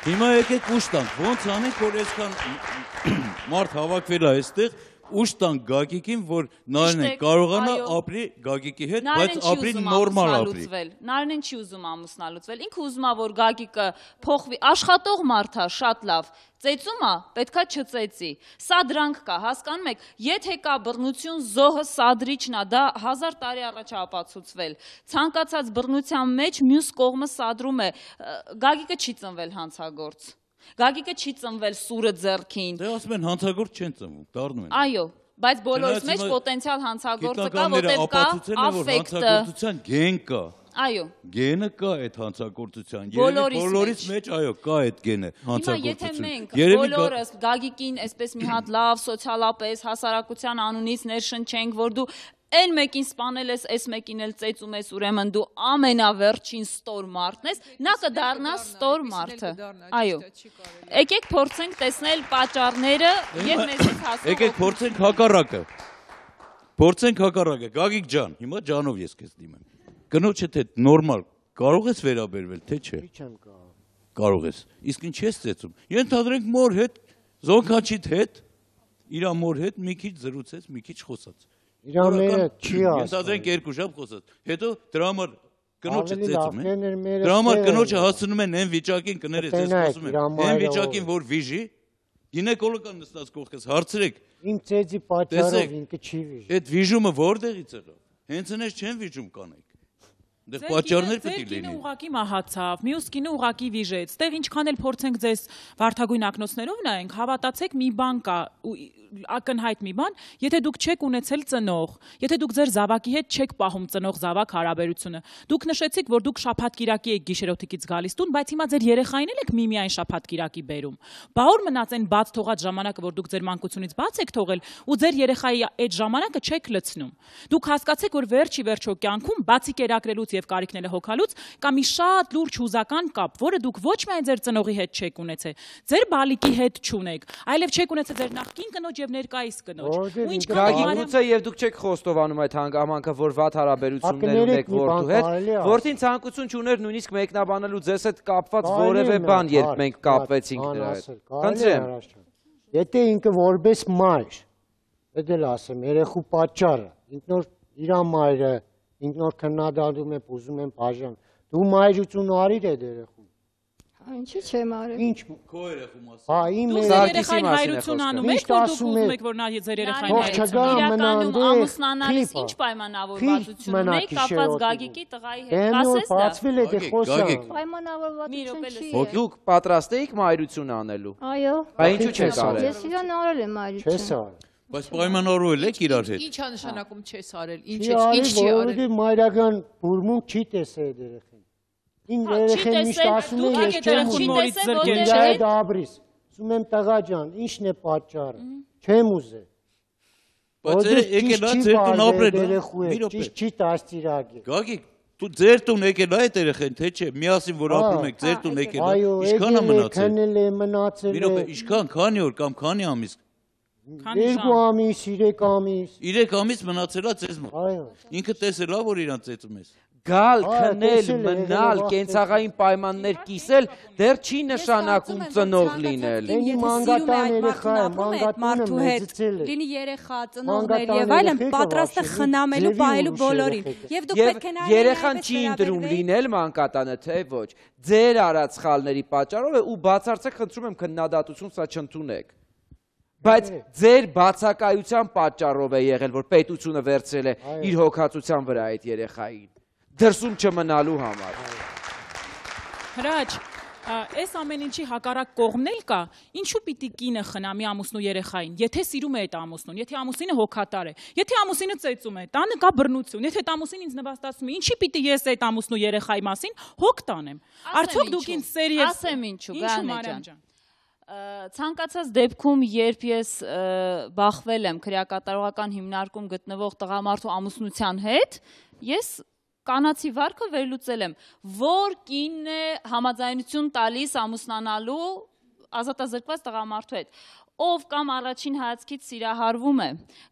Հիմա եկեք ուժ տանք, ոնց անենք, որ այսքան մարդ հավաքվել է այստեղ, ուժ տանք Գագիկին, որ Նարինեն կարողանա ապրի Գագիկի հետ, բայց ապրի նորմալ ապրի։ Նարինեն չի ուզում ամուսնալուծվել, ինքը ուզում է, որ Գագիկը փոխվի, աշխատող մարդ է, շատ լավ, ծեծում է, պետքա չծեծի։ Սա դրանք կա, հասկանում եք, եթե կա բռնություն, զոհը սադրիչն է, դա հազար տարի առաջ է ապացուցվել։ Ցանկացած բռնության մեջ մյուս կողմը սադրում է, Գագիկը չի ծնվել հանցագործ։ Գագիկը չի ծնվել սուրը ձեռքին։ Դե ասում են հանցագործ չեն ծնվում, դառնում են։ Այո, բայց բոլորիս մեջ պոտենցիալ հանցագործը կա, որտեղ կա աֆեկտը։ Հանցագործության գեն կա։ Այո։ Գենը կա այդ հանցագործության։ Բոլորիս մեջ, այո, կա այդ գենը հանցագործություն։ Հիմա եթե մենք բոլորս Գագիկին այսպես մի հատ լավ սոցիալապես հասարակության անունից ներշնչենք, որ դու Այն մեկին սպանել ես, այս մեկին էլ ծեծում ես, ուրեմն դու ամենավերջին ստոր մարդն ես, նա կդառնա ստոր մարդը։ Այո։ Եկեք փորձենք տեսնել պատճառները եւ մեզից հասնող։ Եկեք փորձենք հակառակը։ Փորձենք հակառակը։ Գագիկ ջան, հիմա ջանով ես քեզ դիմեմ։ Կնոջդ հետ նորմալ կարող ես վերաբերվել, թե չէ։ Չեմ կարող։ Կարող ես։ Իսկ ինչ ես ծեծում։ Ենթադրենք մոր հետ, Զոնքաչիդ հետ, իր մոր հետ մի քիչ զրուցեց, մի քիչ խոսաց։ Իրանները չի ասում։ Ենթադրենք երկու ժամ խոսած։ Հետո դրա համար կնոջը ծեծում է։ Դրա համար կնոջը հասնում են այն վիճակին, կներես, ես խոսում եմ։ Այն վիճակին, որ վիժի, գինեկոլոգան նստած կողքես, հարցրեք։ Իմ ծեծի պատճառով ինքը չի վիժի։ Այդ վիժումը որտեղից եղավ։ Հենց այնպես չեն վիժում կանենք։ Դե պատճառներ պետք է լինի։ Ձեր կինը ուղակի մահացավ, մյուս կինը ուղակի վիժեց։ Ստեղ ինչքան էլ փորձենք ձեզ վարդագույն ակնոցներով նայենք, հավատացեք, մի բան կա, ակնհայտ մի բան, եթե դուք չեք ունեցել ծնող, եթե դուք ձեր զավակի հետ չեք պահում ծնող-զավակ հարաբերությունը, դուք նշեցիք, որ դուք շաբաթ-կիրակի եք գիշերօթիկից գալիս տուն, բայց հիմա ձեր երեխային էլ եք միմիայն շաբաթ-կիրակի բերում։ Բա որ մնաց այն բաց թողած ժամանակը, որ դուք ձեր մանկությունից բաց եք թողել, ու ձեր երեխայի այդ ժամանակը չեք լցնում։ Դուք հասկացեք, որ վերջի վերջո կյանքում բացի կերակրելուց եւ կարիքները հոգալուց կա մի շատ լուրջ հուզական կապ, որը դուք ոչ միայն ձեր ծնողի հետ չեք ունեցել, ձեր բալիկի հետ չունեք, այլև չեք ունեցել ձեր նախկին կնոջ եւ ներկայիս կնոջ։ Ու ինչքան գուցե եւ դուք չեք խոստովանում այդ հանգամանքը, որ վատ հարաբերություններ ունեք որդու հետ, որդին ցանկություն չուներ նույնիսկ մեկնաբանելու ձեզ հետ կապված որևէ բան, երբ մենք կապվեցինք նրա հետ։ Խնդրեմ։ Եթե ինքը որպես մայր, դա էլ ասեմ, երեխու պատճառը, ինքնոր իր մայրը ինքնոր քննադատում է, ուզում են բաժան։ Դու մայրություն արիր այդ երեխուն։ Ինչի՞ չեմ արել։ Ինչ քո երեխու մասին։ Հա, իմ երեխային հայրություն անում եք, որ դուք ուզում եք, որ նա ձեր երեխային հայրություն իրականում ամուսնանալիս ինչ պայմանավորվածություն ունեք կապված Գագիկի տղայի հետ։ Ասես դա։ Բացվել է դե խոսա։ Պայմանավորվածություն չի։ Ո դուք պատրաստ եք մայրություն անելու։ Այո։ Բա ինչու չեք արել։ Ես իրան արել եմ մայրություն։ Չես արել։ Բայց պայմանավորվել եք իրար հետ։ Ինչ է նշանակում չես արել։ Ինչ Չի է, ինչ չի արել։ արել, մայրական բուրմունք չի տեսել այդ երեխին։ Ին երեխեն միշտ ասում է ես չեմ ուզում այդ աբրիս։ Ասում եմ տղա ջան, ի՞նչն է պատճառը։ Չեմ ուզել։ Բայց եկել է ձեր տուն ապրել։ Ճիշտ չի դաստիարակել։ Գագիկ, դու ձեր տուն եկել է այդ երեխեն, թե չէ, միասին որ ապրում եք, ձեր տուն եկել է։ Այո, Ինչքան է մնացել։ քնել է, մնացել է։ Ինչքան, քանի օր կամ քանի ամիս։ Երկու ամիս, երեք ամիս։ Երեք ամիս մնացել է ձեզ մոտ։ Այո։ Ինքը տեսել է, որ իրան ծեծում ես։ Գալ, քնել, մնալ, կենցաղային պայմաններ կիսել, դեռ չի նշանակում ծնող լինել։ Լինի մանգատան երեխա է, մանգատանը մեծացել է։ Լինի երեխա, ծնողներ եւ այլն, պատրաստ է խնամելու, պահելու բոլորին։ Եվ դուք պետք է նայեք երեխան չի ընտրում լինել մանկատանը, թե ոչ։ Ձեր արած սխալների պատճառով է ու բացարձակ խնդրում եմ քննադատություն սա չընդունեք։ Բայց ձեր բացակայության պատճառով է եղել, որ պետությունը վերցրել է իր հոգացության վրա այդ երեխային։ Դրսում չմնալու համար։ Հրաչ, այս ամեն ինչի հակառակ կողմն էլ կա, ինչու պիտի կինը խնամի ամուսնու երեխային, եթե սիրում է այդ ամուսնուն, եթե ամուսինը հոգատար է, եթե ամուսինը ծեծում է, տանը կա բռնություն, եթե այդ ամուսինը ինձ նվաստացնում է, ինչի պիտի ես այդ ամուսնու երեխայի մասին հոգ տանեմ։ Արդյոք դուք ինձ սերիես։ Ասեմ ինչու, Գայանե ջան։ Ցանկացած դեպքում, երբ ես բախվել եմ քրեակատարողական հիմնարկում գտնվող տղամարդու ամուսնության հետ, ես կանացի վարքը վերլուծել եմ, որ կինն է համաձայնություն տալիս ամուսնանալու ազատազրկված տղամարդու հետ, ով կամ առաջին հայացքից սիրահարվում է,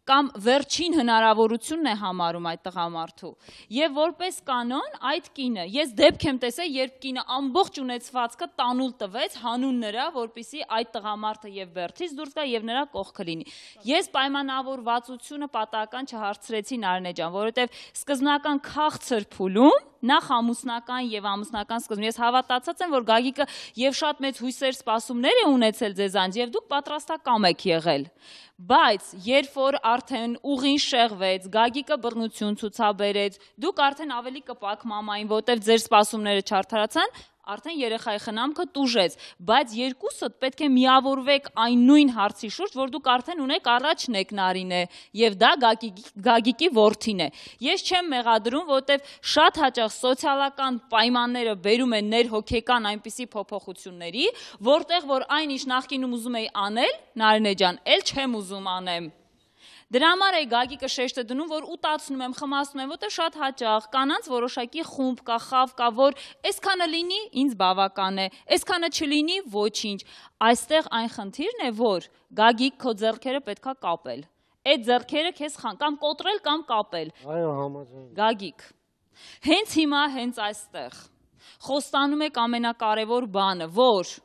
կամ վերջին հնարավորությունն է համարում այդ տղամարդու, եւ որպես կանոն այդ կինը, ես դեպք եմ տեսել, երբ կինը ամբողջ ունեցվածքը տանուլ տվեց հանուն նրա, որպեսզի այդ տղամարդը եւ բերդից դուրս գա եւ նրա կողքը լինի։ Ես պայմանավորվածությունը պատահական չհարցրեցի Նարինե ջան, որովհետեւ սկզբնական քաղցր փուլում նախ ամուսնական եւ ամուսնական սկզբում ես հավատացած եմ, որ Գագիկը եւ շատ մեծ հույսեր սպասումներ է ունեցել ձեզանց եւ դուք պատրաստակամ եք եղել։ Բայց երբ որ արդեն ուղին շեղվեց, Գագիկը բռնություն ցուցաբերեց, դուք արդեն ավելի կպակ մամային, որտեվ ձեր սպասումները չարդարացան, արդեն երեխայի խնամքը տուժեց, բայց երկուսդ պետք է միավորվեք այն նույն հարցի շուրջ, որ դուք արդեն ունեք առաջն եք Նարինե, եւ դա Գագիկի որդին է։ Ես չեմ մեղադրում, որտեվ շատ հաճախ սոցիալական պայմանները բերում են ներհոգեկան այնպիսի փոփոխությունների, որտեղ որ այն ինչ նախկինում ուզում էի անել, Նարինե ջան, էլ չեմ ուզում անեմ։ Դրա համար է Գագիկը շեշտը դնում, որ ուտացնում եմ, խմացնում եմ, որտեղ շատ հաճախ կանանց որոշակի խումբ կա, խավ կա, որ այսքանը լինի, ինձ բավական է, այսքանը չլինի, ոչինչ։ Այստեղ այն խնդիրն է, որ Գագիկ քո ձեռքերը պետքա կապել։ Այդ ձեռքերը քեզ խան կամ կոտրել կամ կապել։ Այո, համաձայն։ Գագիկ, հենց հիմա, հենց այստեղ խոստանում եք ամենակարևոր բանը, որ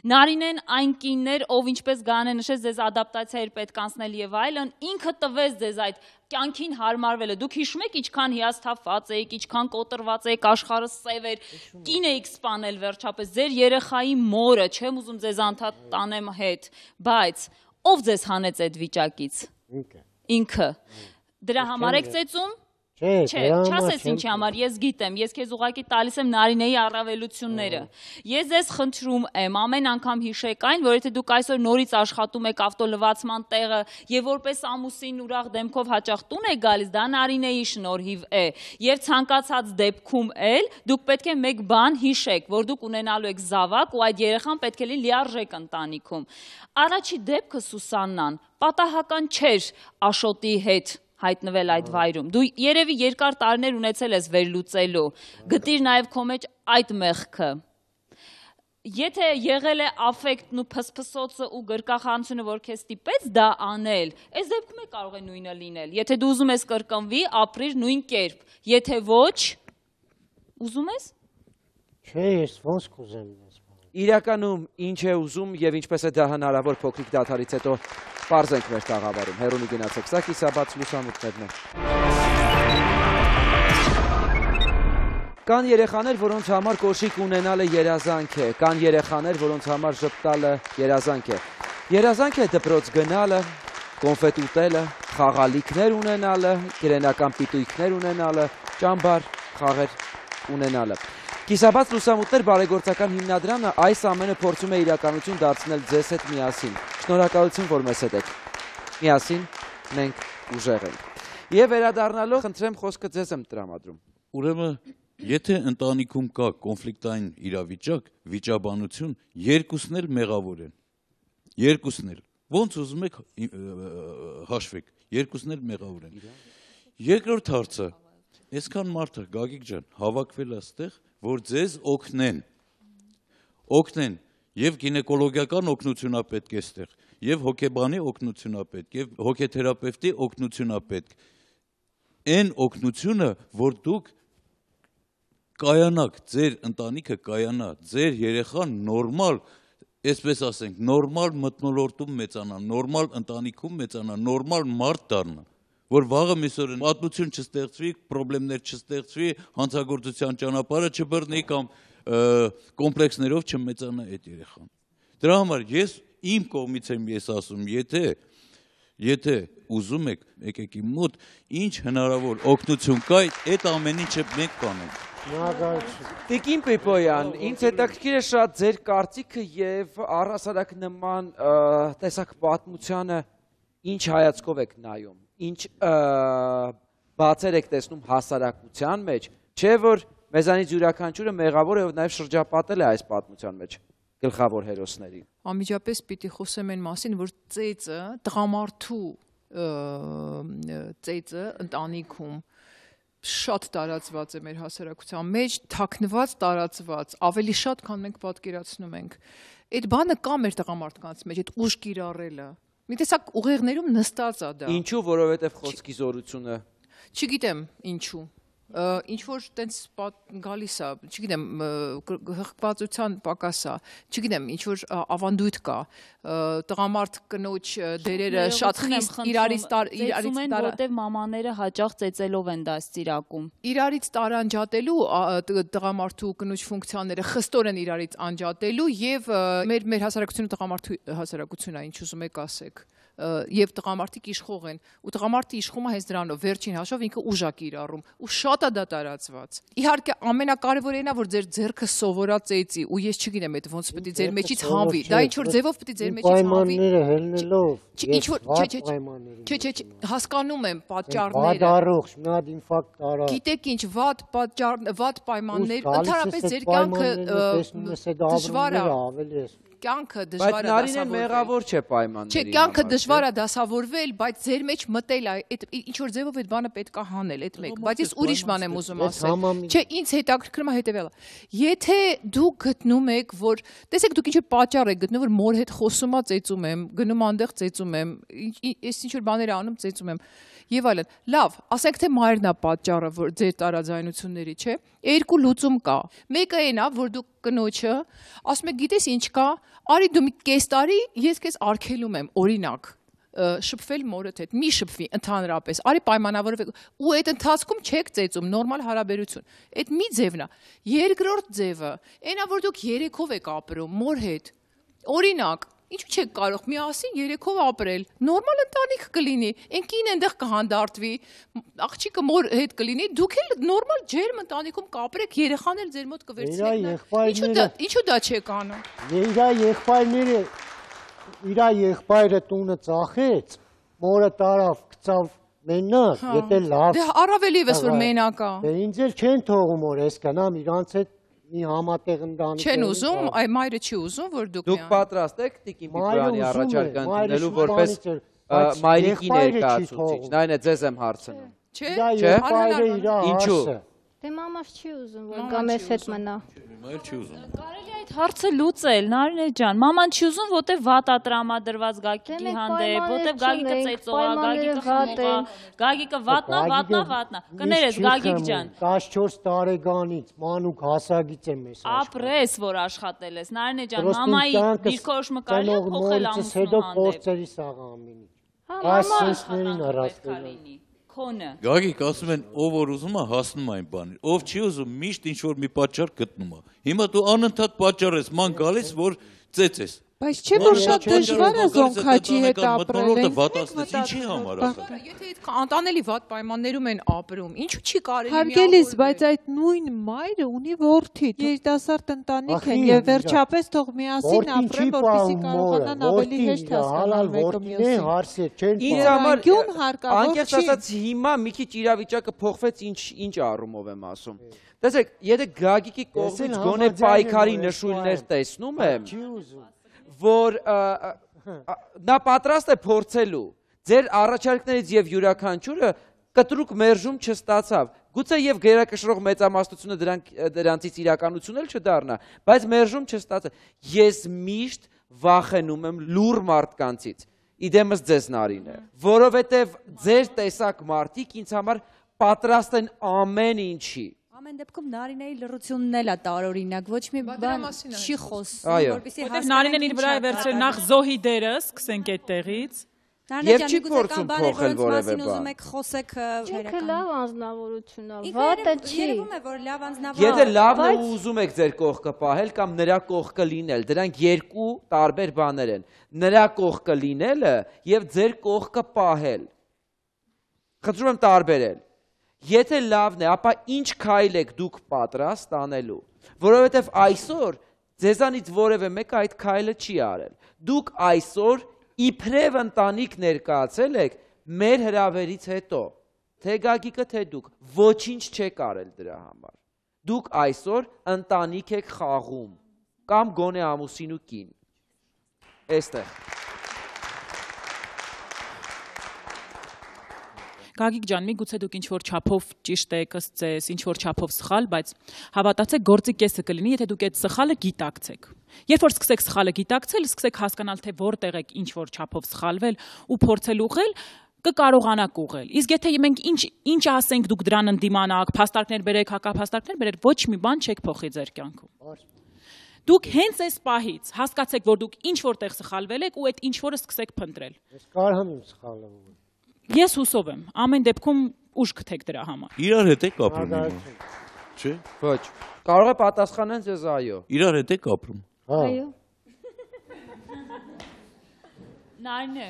Նարինեն այն կիններ, ով ինչպես Գայանե նշեց, ձեզ ադապտացիա էր պետք անցնել եւ այլն, ինքը տվեց ձեզ այդ կյանքին հարմարվելը։ Դուք հիշում եք ինչքան հիասթափված էիք, ինչքան կոտրված էիք, աշխարհը սև էր, կին էիք սպանել վերջապես, ձեր երեխայի մորը, չեմ ուզում ձեզ անդադ տանեմ հետ, բայց ով ձեզ հանեց այդ վիճակից։ Ինքը։ Ինքը։ Դրա համար եք ծեծում։ Չէ, չասես ինչի համար, ես գիտեմ, ես քեզ ուղղակի տալիս եմ Նարինեի առավելությունները։ Ես ձեզ խնդրում եմ, ամեն անգամ հիշեք այն, որ եթե դուք այսօր նորից աշխատում եք ավտոլվացման տեղը եւ որպես ամուսին ուրախ դեմքով հաճախ տուն եք գալիս, դա Նարինեի շնորհիվ է։ Եվ ցանկացած դեպքում էլ դուք պետք է մեկ բան հիշեք, որ դուք ունենալու եք զավակ ու այդ երեխան պետք է լինի լիարժեք ընտանիքում։ Առաջի դեպքը Սուսաննան պատահական չէր Աշոտի հետ հայտնվել այդ վայրում։ Դու երևի երկար տարիներ ունեցել ես վերլուծելու, գտիր նաև քո մեջ այդ մեղքը։ Եթե եղել է աֆեկտն ու փսփսոցը ու գրկախանությունը, որ քեզ ստիպեց դա անել, այս դեպքում է կարող է նույնը լինել։ Եթե դու ուզում ես կրկնվի, ապրիր նույն կերպ։ Եթե ոչ, ուզում ես։ Չէ, ես ոնց կուզեմ ես։ Իրականում ինչ է ուզում եւ ինչպես է դա հնարավոր փոքրիկ դադարից հետո պարզենք մեր տաղավարում։ Հերոնի գնացեք, սա կիսաբաց լուսամուտներն են։ Կան երեխաներ, որոնց համար կոշիկ ունենալը երազանք է, կան երեխաներ, որոնց համար ժպտալը երազանք է։ Երազանք է դպրոց գնալը, կոնֆետ ուտելը, խաղալիքներ ունենալը, գրենական պիտույքներ ունենալը, ճամբար խաղեր ունենալը։ Կիսաբաց լուսամուտներ բարեգործական հիմնադրամը այս ամենը փորձում է իրականություն դարձնել ձեզ հետ միասին։ Շնորհակալություն, որ մեզ հետ եք։ Միասին մենք ուժեղ ենք։ Եվ վերադառնալով խնդրեմ խոսքը ձեզ եմ տրամադրում։ Ուրեմն, եթե ընտանիքում կա կոնֆլիկտային իրավիճակ, վիճաբանություն, երկուսն էլ մեղավոր են։ Երկուսն էլ։ Ոնց ուզում եք հաշվեք, երկուսն էլ մեղավոր են։ Երկրորդ հարցը, այսքան մարդը, Գագիկ ջան, հավաքվել է այստեղ, որ ձեզ օգնեն, օգնեն, և գինեկոլոգիական օգնությունա պետք է ստեղ, եւ հոգեբանի օգնություն է պետք, եւ հոգեթերապևտի օգնություն է պետք։ Այն օգնությունը, որ դուք կայանաք, ձեր ընտանիքը կայանա, ձեր երեխան նորմալ, այսպես ասենք, նորմալ մթնոլորտում մեծանա, նորմալ ընտանիքում մեծանա, նորմալ մարդ դառնա, որ վաղը միսօր պատմություն չստեղծվի, խնդիրներ չստեղծվի, հանցագործության ճանապարհը չբռնի կամ կոմպլեքսներով չմեծանա այդ երեխան։ Դրա համար ես իմ կողմից եմ ես ասում, եթե եթե ուզում եք, եկեք իմ մոտ, ինչ հնարավոր օգնություն կա, այդ ամեն ինչը մենք կանենք։ Տիկին Պիպոյան, ինձ հետաքրքիր է շատ ձեր կարծիքը եւ առհասարակ նման տեսակ պատմությանը ինչ հայացքով եք նայում, ինչ բացեր եք տեսնում հասարակության մեջ, չէ որ մեզանից յուրաքանչյուրը մեղավոր է եւ նաեւ շրջապատել է այս պատմության մեջ գլխավոր հերոսներին։ Անմիջապես պիտի խոսեմ այն մասին, որ ծեծը, տղամարդու ծեծը ընտանիքում շատ տարածված է մեր հասարակության մեջ, թաքնված, տարածված, ավելի շատ, քան մենք պատկերացնում ենք։ Այդ բանը կա մեր տղամարդկանց մեջ, այդ ուժ կիրառելը։ Մի տեսակ ուղեղներում նստած է դա։ Ինչու, որովհետև խոսքի զորությունը։ Չգիտեմ ինչու։ Ինչ որ տենց գալիս է, չգիտեմ, հղկվածության պակաս է, չգիտեմ, ինչ որ ավանդույթ կա, տղամարդ կնոջ դերերը շատ խիստ իրարից ծեծում են, որտև մամաները հաճախ ծեծելով են դա ստիրակում։ Իրարից տարանջատելու տղամարդու կնոջ ֆունկցիաները խստորեն իրարից անջատելու եւ մեր մեր հասարակությունը տղամարդու հասարակությունն է, ինչ ուզում եք ասեք։ Եվ տղամարդիկ իշխող են, ու տղամարդի իշխումը հենց դրանով, վերջին հաշվով ինքը ուժ է կիրառում, ու շատ է դա տարածված։ Իհարկե ամենակարևորն է, որ ձեր ձեռքը սովորա ծեծի, ու ես չգիտեմ այդ ոնց պետք է ձեր մեջից հանվի, դա ինչ որ ձևով պետք է ձեր մեջից հանվի։ Պայմանները հելնելով, ինչ որ չէ, չէ, չէ, հասկանում եմ պատճառները։ Վադարող, մի հատ ինֆարկտ տարա։ Գիտեք ինչ, վատ պատճառ, վատ պայմաններ, ընդհանրապես ձեր կյանքը դժվար է։ Կյանքը դժվար է դասավորվել։ Բայց Նարինեն մեղավոր չէ պայմանների։ Չէ, կյանքը դժվար է դասավորվել, բայց ձեր մեջ մտել է, այդ ինչ որ ձևով այդ բանը պետք է հանել, այդ մեկ, բայց ես ուրիշ բան եմ ուզում ասել։ Չէ, ինձ հետաքրքրում է հետևյալը։ Եթե դուք գտնում եք, որ տեսեք դուք ինչ որ պատճառ եք գտնում, որ մոր հետ խոսում ա ծեծում եմ, գնում այնտեղ ծեծում եմ, ես ինչ որ բաներ անում ծեծում եմ եւ այլն։ Լավ, ասենք թե մայրն է պատճառը, որ ձեր տարաձայնությունների, չէ։ Երկու լուծում կա։ Մեկը այն է, որ դուք կնոջը ասում եք, գիտես ինչ կա, արի դու մի կես տարի ես քեզ արգելում եմ, օրինակ, շփվել մորդ հետ, մի շփվի ընդհանրապես, արի պայմանավորվեք, ու այդ ընթացքում չեք ծեծում, նորմալ հարաբերություն։ Այդ մի ձևն է։ Երկրորդ ձևը, այնա որ դուք երեքով եք ապրում մոր հետ։ Օրինակ, ինչու չեք կարող միասին երեքով ապրել, նորմալ ընտանիք կլինի, ընկին այնտեղ կհանդարտվի, աղջիկը մոր հետ կլինի, դուք էլ նորմալ ջերմ ընտանիքում կապրեք, երեխան էլ ձեր մոտ կվերցնեք։ Ինչու դա չեք անում։ Իրա եղբայրները, իրա եղբայրը տունը ծախեց, մորը տարավ, գցավ մենակ, եթե լավ։ Դե առավել եւս որ մենակ է։ Դե ինձ էլ չեն թողում որ այսքանամ իրանց հետ մի համատեղ ընտանիք։ Չեն ուզում, այ մայրը չի ուզում, որ դուք Դուք պատրաստ եք Տիկին Պիպոյանի առաջարկը ընդունելու որպես մայրիկի ներկայացուցիչ։ Նայն է ձեզ եմ հարցնում։ Չէ, չէ։ Ինչու։ Դե մամաս չի ուզում, որ գա մեզ հետ մնա։ Մայր չի ուզում։ Կարելի է այդ հարցը լուծել, Նարինե ջան, մաման չի ուզում, որտեվ վատ է տրամադրված Գագիկի հանդեպ, որտեվ Գագիկը ծեծող է, Գագիկը խմող է, Գագիկը վատնա, վատնա, վատնա։ Կներես Գագիկ ջան։ տասնչորս տարեկանից մանուկ հասագից եմ ես աշխատում։ Ապրես, որ աշխատել ես, Նարինե ջան, մամայի դիրքորոշումը կարելի է փոխել ամուսնու հետո հանդեպ։ փորձերի սաղ ամինի։ Այս սենսներին առասպելին։ Քոնը։ Գագիկ ասում են, ով որ ուզում է հասնում այն բանին, ով չի ուզում միշտ ինչ որ մի պատճառ գտնում է։ Հիմա դու անընդհատ պատճառ ես, ման գալիս, որ ծեծես։ Բայց չէ որ շատ դժվար է Զոնքաչի հետ ապրել։ Ինչի համար ասա։ Եթե այդ անտանելի վատ պայմաններում են ապրում, ինչու չի կարելի Հարգելիս, բայց այդ նույն մայրը ունի որդի, երիտասարդ ընտանիք են եւ վերջապես թող միասին ապրեն, որպեսզի կարողանան ավելի հեշտ հասկանալ մեկը մյուսին։ Ինձ համար Գյուն հարկավոր անկեղծ ասած հիմա մի քիչ իրավիճակը փոխվեց, ինչ ինչ առումով եմ ասում։ Տեսեք, եթե Գագիկի կողմից գոնե պայքարի նշույլներ տեսնում եմ, որ նա պատրաստ է փորձելու ձեր առաջարկներից եւ յուրաքանչյուրը կտրուկ մերժում չստացավ։ Գուցե եւ գերակշռող մեծամասնությունը դրանք դրանցից իրականություն էլ չդառնա, բայց մերժում չստացավ։ Ես միշտ վախենում եմ լուր մարդկանցից։ Իդեմս ձեզ Նարինե, որովհետև ձեր տեսակ մարդիկ ինձ համար պատրաստ են ամեն ինչի։ Ամեն դեպքում Նարինեի լռությունն էլ է տարօրինակ, ոչ մի բան չի խոսում, որպեսզի հասկանանք։ Նարինեն իր վրա է վերցրել նախ զոհի դերը, սկսենք այդտեղից։ Եվ չի փորձում փոխել որևէ բան։ Ուզում եք խոսեք Ինքը լավ անձնավորություն է, վատը չի։ Երևում է, որ լավ անձնավորություն։ Եթե լավն է ու ուզում եք ձեր կողքը պահել կամ նրա կողքը լինել, դրանք երկու տարբեր բաներ են։ Նրա կողքը լինելը եւ ձեր կողքը պահել։ Խնդրում եմ տարբերել։ Եթե լավն է, ապա ինչ քայլ եք դուք պատրաստ անելու, որովհետև այսօր ձեզանից որևէ մեկը այդ քայլը չի արել։ Դուք այսօր իբրև ընտանիք ներկայացել եք մեր հրավերից հետո, թե Գագիկը, թե դուք, ոչինչ չեք արել դրա համար։ Դուք այսօր ընտանիք եք խաղում, կամ գոնե ամուսին ու կին։ Էստեղ։ Գագիկ ջան, միգուցե դուք ինչ-որ չափով ճիշտ եք ըստ ձեզ, ինչ-որ չափով սխալ, բայց հավատացեք, գործի կեսը կլինի, եթե դուք այդ սխալը գիտակցեք։ Երբ որ սկսեք սխալը գիտակցել, սկսեք հասկանալ, թե որտեղ եք ինչ-որ չափով սխալվել ու փորձել ուղղել, կկարողանաք ուղղել։ Իսկ եթե մենք ինչ ինչ ասենք, դուք դրան ընդդիմանաք, փաստարկներ բերեք, հակափաստարկներ բերեք, ոչ մի բան չեք փոխի ձեր կյանքում։ Դուք հենց այս պահից հասկացեք, որ դուք ինչ որտեղ սխալվել եք ու այդ ինչ որը սկսեք փնտրել։ Ես կարող եմ սխալվել։ Ես հուսով եմ, ամեն դեպքում ուժ գտեք դրա համար։ Իրար հետ եք ապրում։ Չէ՞։ Ոչ։ Կարող է պատասխանեն ձեզ այո։ Իրար հետ եք ապրում։ Այո։ Նարինե։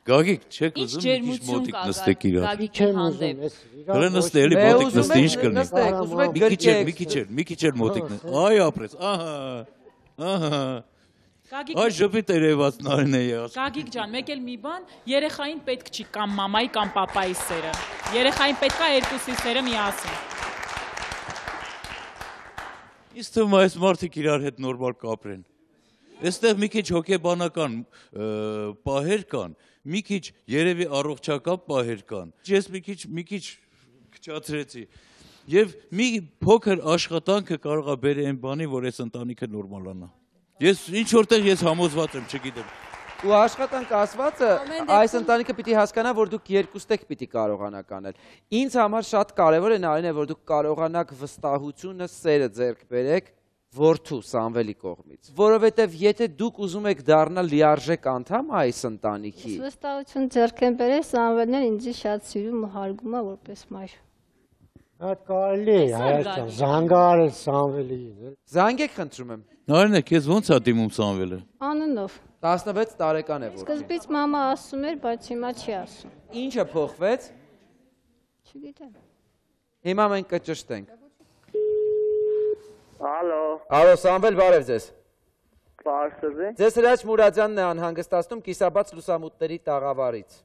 Գագիկ, չեք ուզում մի քիչ մոտիկ նստեք իրար։ Գագիկի հանդեպ։ Հələ նստե, էլի մոտիկ նստե, ինչ կլինի։ Ուզում եք մի քիչ էլ, մի քիչ էլ, մի քիչ էլ մոտիկ նստե։ Այ ապրես, ահա։ Ահա։ Այ ժպիտ երևաց Նարինեի ասում։ Գագիկ ջան, մեկ էլ մի բան, երեխային պետք չի կամ մամայի կամ պապայի սերը։ Երեխային պետք է երկուսի սերը միասին։ Իսկ թվում է այս մարդիկ իրար հետ նորմալ կապրեն։ Այստեղ մի քիչ հոգեբանական պահեր կան, մի քիչ երևի առողջական պահեր կան։ Ես մի քիչ մի քիչ քչացրեցի։ Եվ մի փոքր աշխատանքը կարող է բերել այն բանի, որ այս ընտանիքը նորմալանա։ Ես ինչ որտեղ ես համոզված եմ, չգիտեմ։ Ու աշխատանք ասվածը այս ընտանիքը պիտի հասկանա, որ դուք երկուստեք պիտի կարողանաք անել։ Ինձ համար շատ կարևոր է Նարինե, որ դուք կարողանաք վստահությունը, սերը ձեռք բերեք որդու Սամվելի կողմից, որովհետև եթե դուք ուզում եք դառնալ լիարժեք անդամ այս ընտանիքի, վստահություն ձեռք են բերել, Սամվելն էլ ինձ շատ սիրում ու հարգում է որպես մայր։ Այդ կարելի է, հայաստան, զանգարել Սամվելին։ Զանգեք խնդրում եմ։ Նարինե, քեզ ո՞նց է դիմում Սամվելը։ Անունով։ տասնվեց տարեկան է որ։ Սկզբից մամա ասում էր, բայց հիմա չի ասում։ Ինչը փոխվեց։ Չգիտեմ։ Հիմա մենք կճշտենք։ Ալո։ Ալո, Սամվել, բարև ձեզ։ Պարսեզի։ Ձեզ Հրաչ Մուրադյանն է անհանգստացնում կիսաբաց լուսամուտների տաղավարից։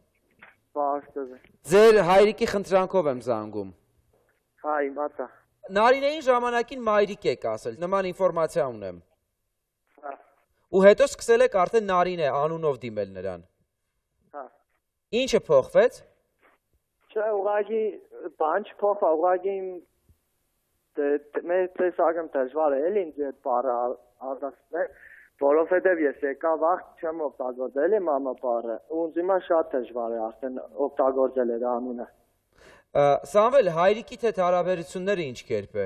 Պարսեզի։ Ձեր հայրիկի խնդրանքով եմ զանգում։ Հա, իմացա։ Նարինեին ժամանակին մայրիկ եք ասել, նման ինֆորմացիա ունեմ։ Հա։ Ու հետո սկսել եք արդեն Նարինե անունով դիմել նրան։ Հա։ Ինչը փոխվեց։ Չէ, ուղղակի բան չփոխա, ուղղակի մեր տեսակում դժվար է էլի ինձ այդ բառը արտասանել, որովհետև ես եկա վաղ չեմ օգտագործել իմ մամա բառը, ու ինձ հիմա շատ դժվար է արդեն օգտագործել այդ անունը։ Սամվել, հայրիկիդ հետ հարաբերությունները ինչ կերպ է։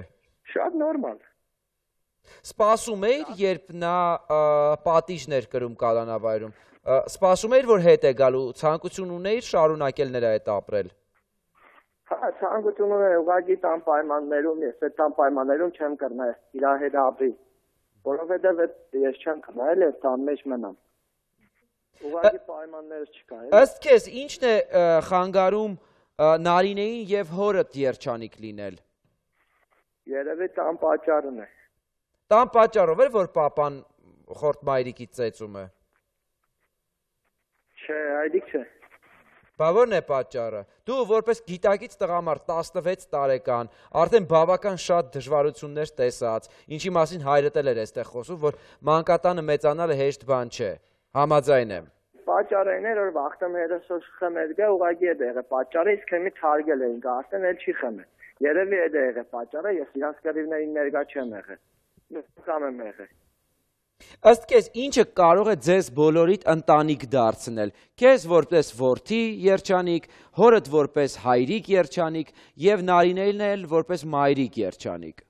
Շատ նորմալ։ Սպասում էիր, երբ նա պատիժներ կրում կալանավայրում։ Սպասում էիր, որ հետ է գալու, ցանկություն ունեիր շարունակել նրա հետ ապրել։ Հա, ցանկություն ունեմ, ուղղակի տան պայմաններում, ես այդ տան պայմաններում չեմ կրնա իր հետ ապրի, որովհետև ես չեմ կրնա, էլ ես տան մեջ մնամ։ Ուղղակի պայմաններ չկա։ Ըստ քեզ, ինչն է խանգարում Նարինեին եւ հորդ երջանիկ լինել։ Երևի տան պատճառն է։ Տան պատճառով էր, որ պապան խորտ մայրիկից ծեծում է։ Չէ, այդիկ չէ։ Բա ո՞րն է պատճառը։ Դու որպես գիտակից տղամարդ տասնվեց տարեկան, արդեն բավական շատ դժվարություններ տեսած, ինչի մասին հայրդ էլ էր այստեղ խոսում, որ մանկատանը մեծանալը հեշտ բան չէ։ Համաձայն եմ։ Պատճառը այն էր, որ վախտեմ հերոսոս խմել գա, ուղղակի այդ եղե պատճառը, իսկ հիմի թարգել էինք, արդեն էլ չի խմել։ Երևի այդ եղե պատճառը, ես իրանց կռիվներին ներկա չեմ եղել։ Կամ եմ եղել։ Ըստ քեզ ինչը կարող է ձեզ բոլորիդ ընտանիք դարձնել։ Քեզ որպես որդի երջանիկ, հորդ որպես հայրիկ երջանիկ եւ Նարինելն էլ որպես մայրիկ երջանիկ։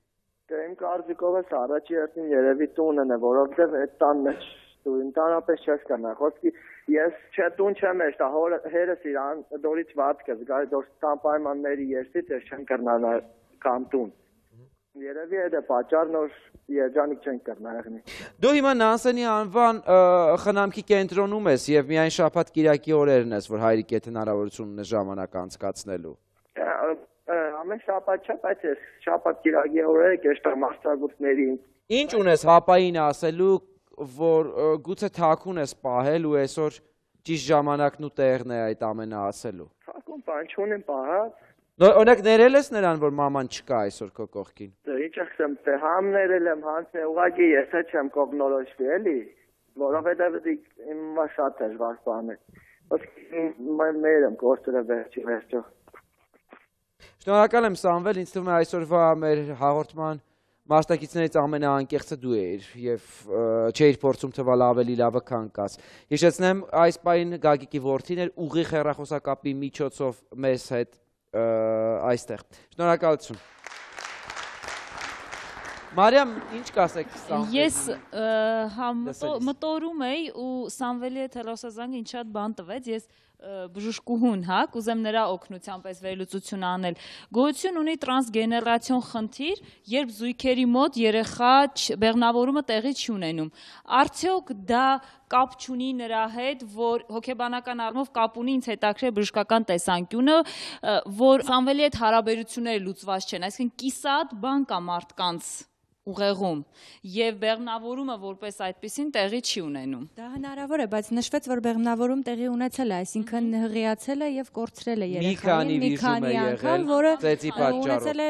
Դե իմ կարծիքով էս առաջի հերթին երևի տունն է, որովհետեւ այդ տան մեջ դու ինտանապես չես կնա։ Խոսքի ես չէ տուն չեմ էշտա, հերս իրան դորից վատ կես, գայ դոր տան պայմանների երսից ես չեմ կրնա կամ տուն։ Երևի այդ է պատճառն որ երջանիկ չեն կրնա եղնի։ Դու հիմա Նանսենի անվան խնամքի կենտրոնում ես եւ միայն շաբաթ կիրակի օրերն ես, որ հայրիկ եթե հնարավորություն ունես ժամանակ անցկացնելու։ Ամեն շաբաթ չէ, բայց ես շաբաթ կիրակի օրերը կեշտա մասնագետներին։ Ինչ ունես հապային ասելու, որ գուցե թաքուն ես պահել ու այսօր ճիշտ ժամանակն ու տեղն է այդ ամենը ասելու։ Թաքուն բան չունեմ պահած։ Օրինակ ներել ես նրան, որ մաման չկա այսօր քո կողքին։ Դե ինչ ասեմ, թե համ ներել եմ, հանցնել, ուղղակի ես չեմ կողնորոշվի, էլի, որովհետև իմ շատ դժվար բան է։ Ոսկի մեր եմ գործերը վերջի վերջո։ Շնորհակալ եմ Սամվել, ինձ թվում է այսօրվա մեր հաղորդման մասնակիցներից ամենաանկեղծը դու էիր եւ չէիր փորձում թվալ ավելի լավը քան կաս։ Հիշեցնեմ, այս պահին Գագիկի որդին էր ուղիղ հեռախոսակապի միջոցով մեզ հետ այստեղ։ Շնորհակալություն։ Մարիամ, ինչ կասեք Սամվելի։ Ես մտորում էի ու Սամվելի հետ հեռախոսազանգը ինձ շատ բան տվեց, ես բժշկուհուն, հա, կուզեմ նրա օգնությամբ այս վերլուծություն անել։ Գոյություն ունի տրանսգեներացիոն խնդիր, երբ զույգերի մոտ երեխա բեղմնավորումը տեղի չի ունենում։ Արդյոք դա կապ չունի նրա հետ, որ հոգեբանական առումով կապ ունի ինձ հետաքրքիր բժշկական տեսանկյունը, որ Սամվելի հետ հարաբերությունները լուծված չեն, այսինքն կիսատ բան կա մարդկանց ուղեղում եւ բեղմնավորումը որպես այդպեսին տեղի չի ունենում։ Դա հնարավոր է, բայց նշվեց, որ բեղմնավորում տեղի ունեցել է, այսինքն հղիացել է եւ կորցրել է երեխային մի քանի անգամ, որը ունեցել է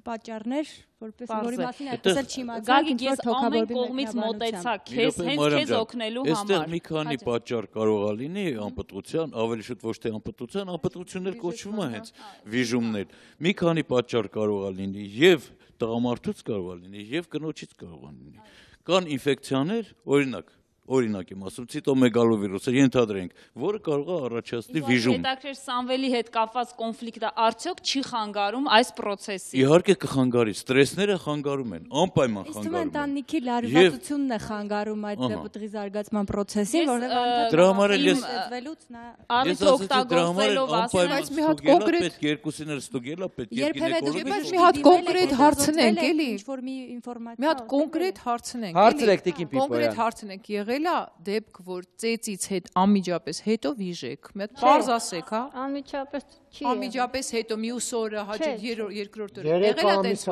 պատճառներ, որպես որի մասին այդպես չի իմացել։ Գագիկ, ես ամեն կողմից մոտեցա քեզ, հենց քեզ օգնելու համար։ Այստեղ մի քանի պատճառ կարող է լինի անպտղության, ավելի շուտ ոչ թե անպտղության, անպտղություններ կոչվում է հենց վիժումներ։ Մի քանի պատճառ կարող է լինի եւ տղամարդուց կարող է լինի եւ կնոջից կարող է լինի։ Կան ինֆեկցիաներ, օրինակ Օրինակ եմ ասում, ցիտոմեգալովիրուսը ենթադրենք, որը կարող է առաջացնել վիժում։ Հետաքրքիր Սամվելի հետ կապված կոնֆլիկտը արդյոք չի խանգարում այս process-ին։ Իհարկե կխանգարի, ստրեսները խանգարում են, անպայման խանգարում են։ Իսկ ընտանիքի լարվածությունն է խանգարում այդ պտղի զարգացման process-ին, որովհետեւ դրա համար էլ ես ստվելուց նա արից օգտագործելով ասել, բայց մի հատ կոնկրետ պետք երկուսին էլ ստուգելա, պետք է գինեկոլոգի։ Բայց մի հատ կոնկրետ հարցնենք, էլի։ Ինչ որ մի ինֆորմացիա։ Մի հատ կոնկրետ հարցնենք։ Հարցրեք Տիկին Պիպոյան։ Կոնկրետ հարցնենք եղել է դեպք, որ ծեծից հետ անմիջապես հետո վիժեք։ Մի հատ բարձ ասեք, հա։ Անմիջապես չի։ Անմիջապես հետո մյուս օրը, հաջորդ երկրորդ օրը եղել է տես։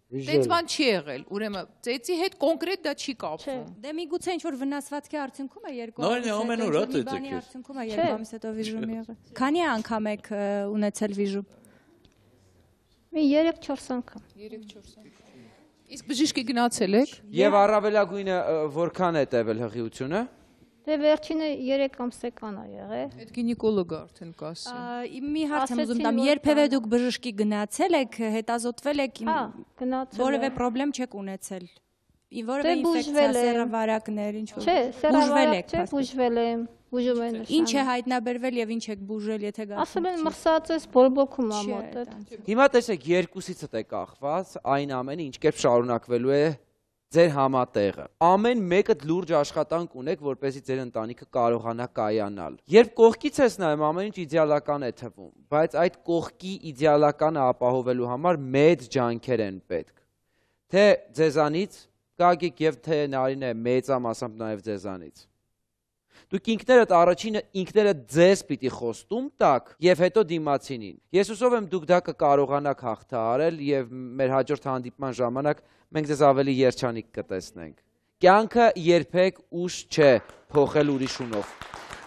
Տենց բան չի եղել, ուրեմն ծեծի հետ կոնկրետ դա չի կապվում։ Դե միգուցե ինչ որ վնասվածքի արդյունքում է երկու ամիս։ Նույն ամեն օր է ծեծեք։ Արդյունքում է երկու ամիս հետո վիժում եղել։ Քանի անգամ եք ունեցել վիժում։ Մի երեք-չորս անգամ։ երեք-չորս անգամ։ Իսկ բժիշկի գնացել եք։ Եվ առավելագույնը որքան է տևել հղիությունը։ Դե վերջինը երեք ամսական է եղել։ Այդ գինեկոլոգը արդեն կասի։ Մի հարց եմ ուզում տամ, երբևէ դուք բժշկի գնացել եք, հետազոտվել եք, որևէ խնդրեմ չեք ունեցել։ Որևէ ինֆեկցիա, սեռավարակներ, ինչ որ։ Չէ, սեռավարակ չէ, բուժվել եմ, բուժում են։ Ինչ է հայտնաբերվել եւ ինչ եք բուժել, եթե գա։ Ասում են մրսած ես, բորբոքում ա մոտը։ Հիմա տեսեք, երկուսիցդ է կախված այն ամենը, ինչ կերպ շարունակվելու է ձեր համատեղը։ Ամեն մեկը լուրջ աշխատանք ունեք, որպեսզի ձեր ընտանիքը կարողանա կայանալ։ Երբ կողքից ես նայում, ամեն ինչ իդեալական է թվում, բայց այդ կողքի իդեալականը ապահովելու համար մեծ ջանքեր են պետք։ Թե ձեզանից, Գագիկ եւ թե Նարինե, մեծամասամբ նաեւ ձեզանից։ Դուք ինքներդ առաջինը ինքներդ ձեզ պիտի խոստում տաք եւ հետո դիմացինին։ Ես հուսով եմ դուք դա կկարողանաք հաղթահարել եւ մեր հաջորդ հանդիպման ժամանակ մենք ձեզ ավելի երջանիկ կտեսնենք։ Կյանքը երբեք ուշ չէ փոխել ուրիշունով։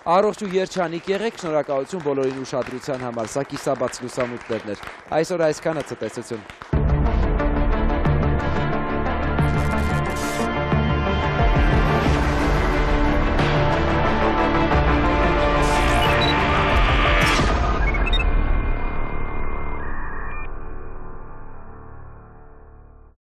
Առողջ ու երջանիկ եղեք, շնորհակալություն բոլորին ուշադրության համար։ Սա կիսաբաց լուսամուտներն էր։ Այսօր այսքանը ցտեսություն։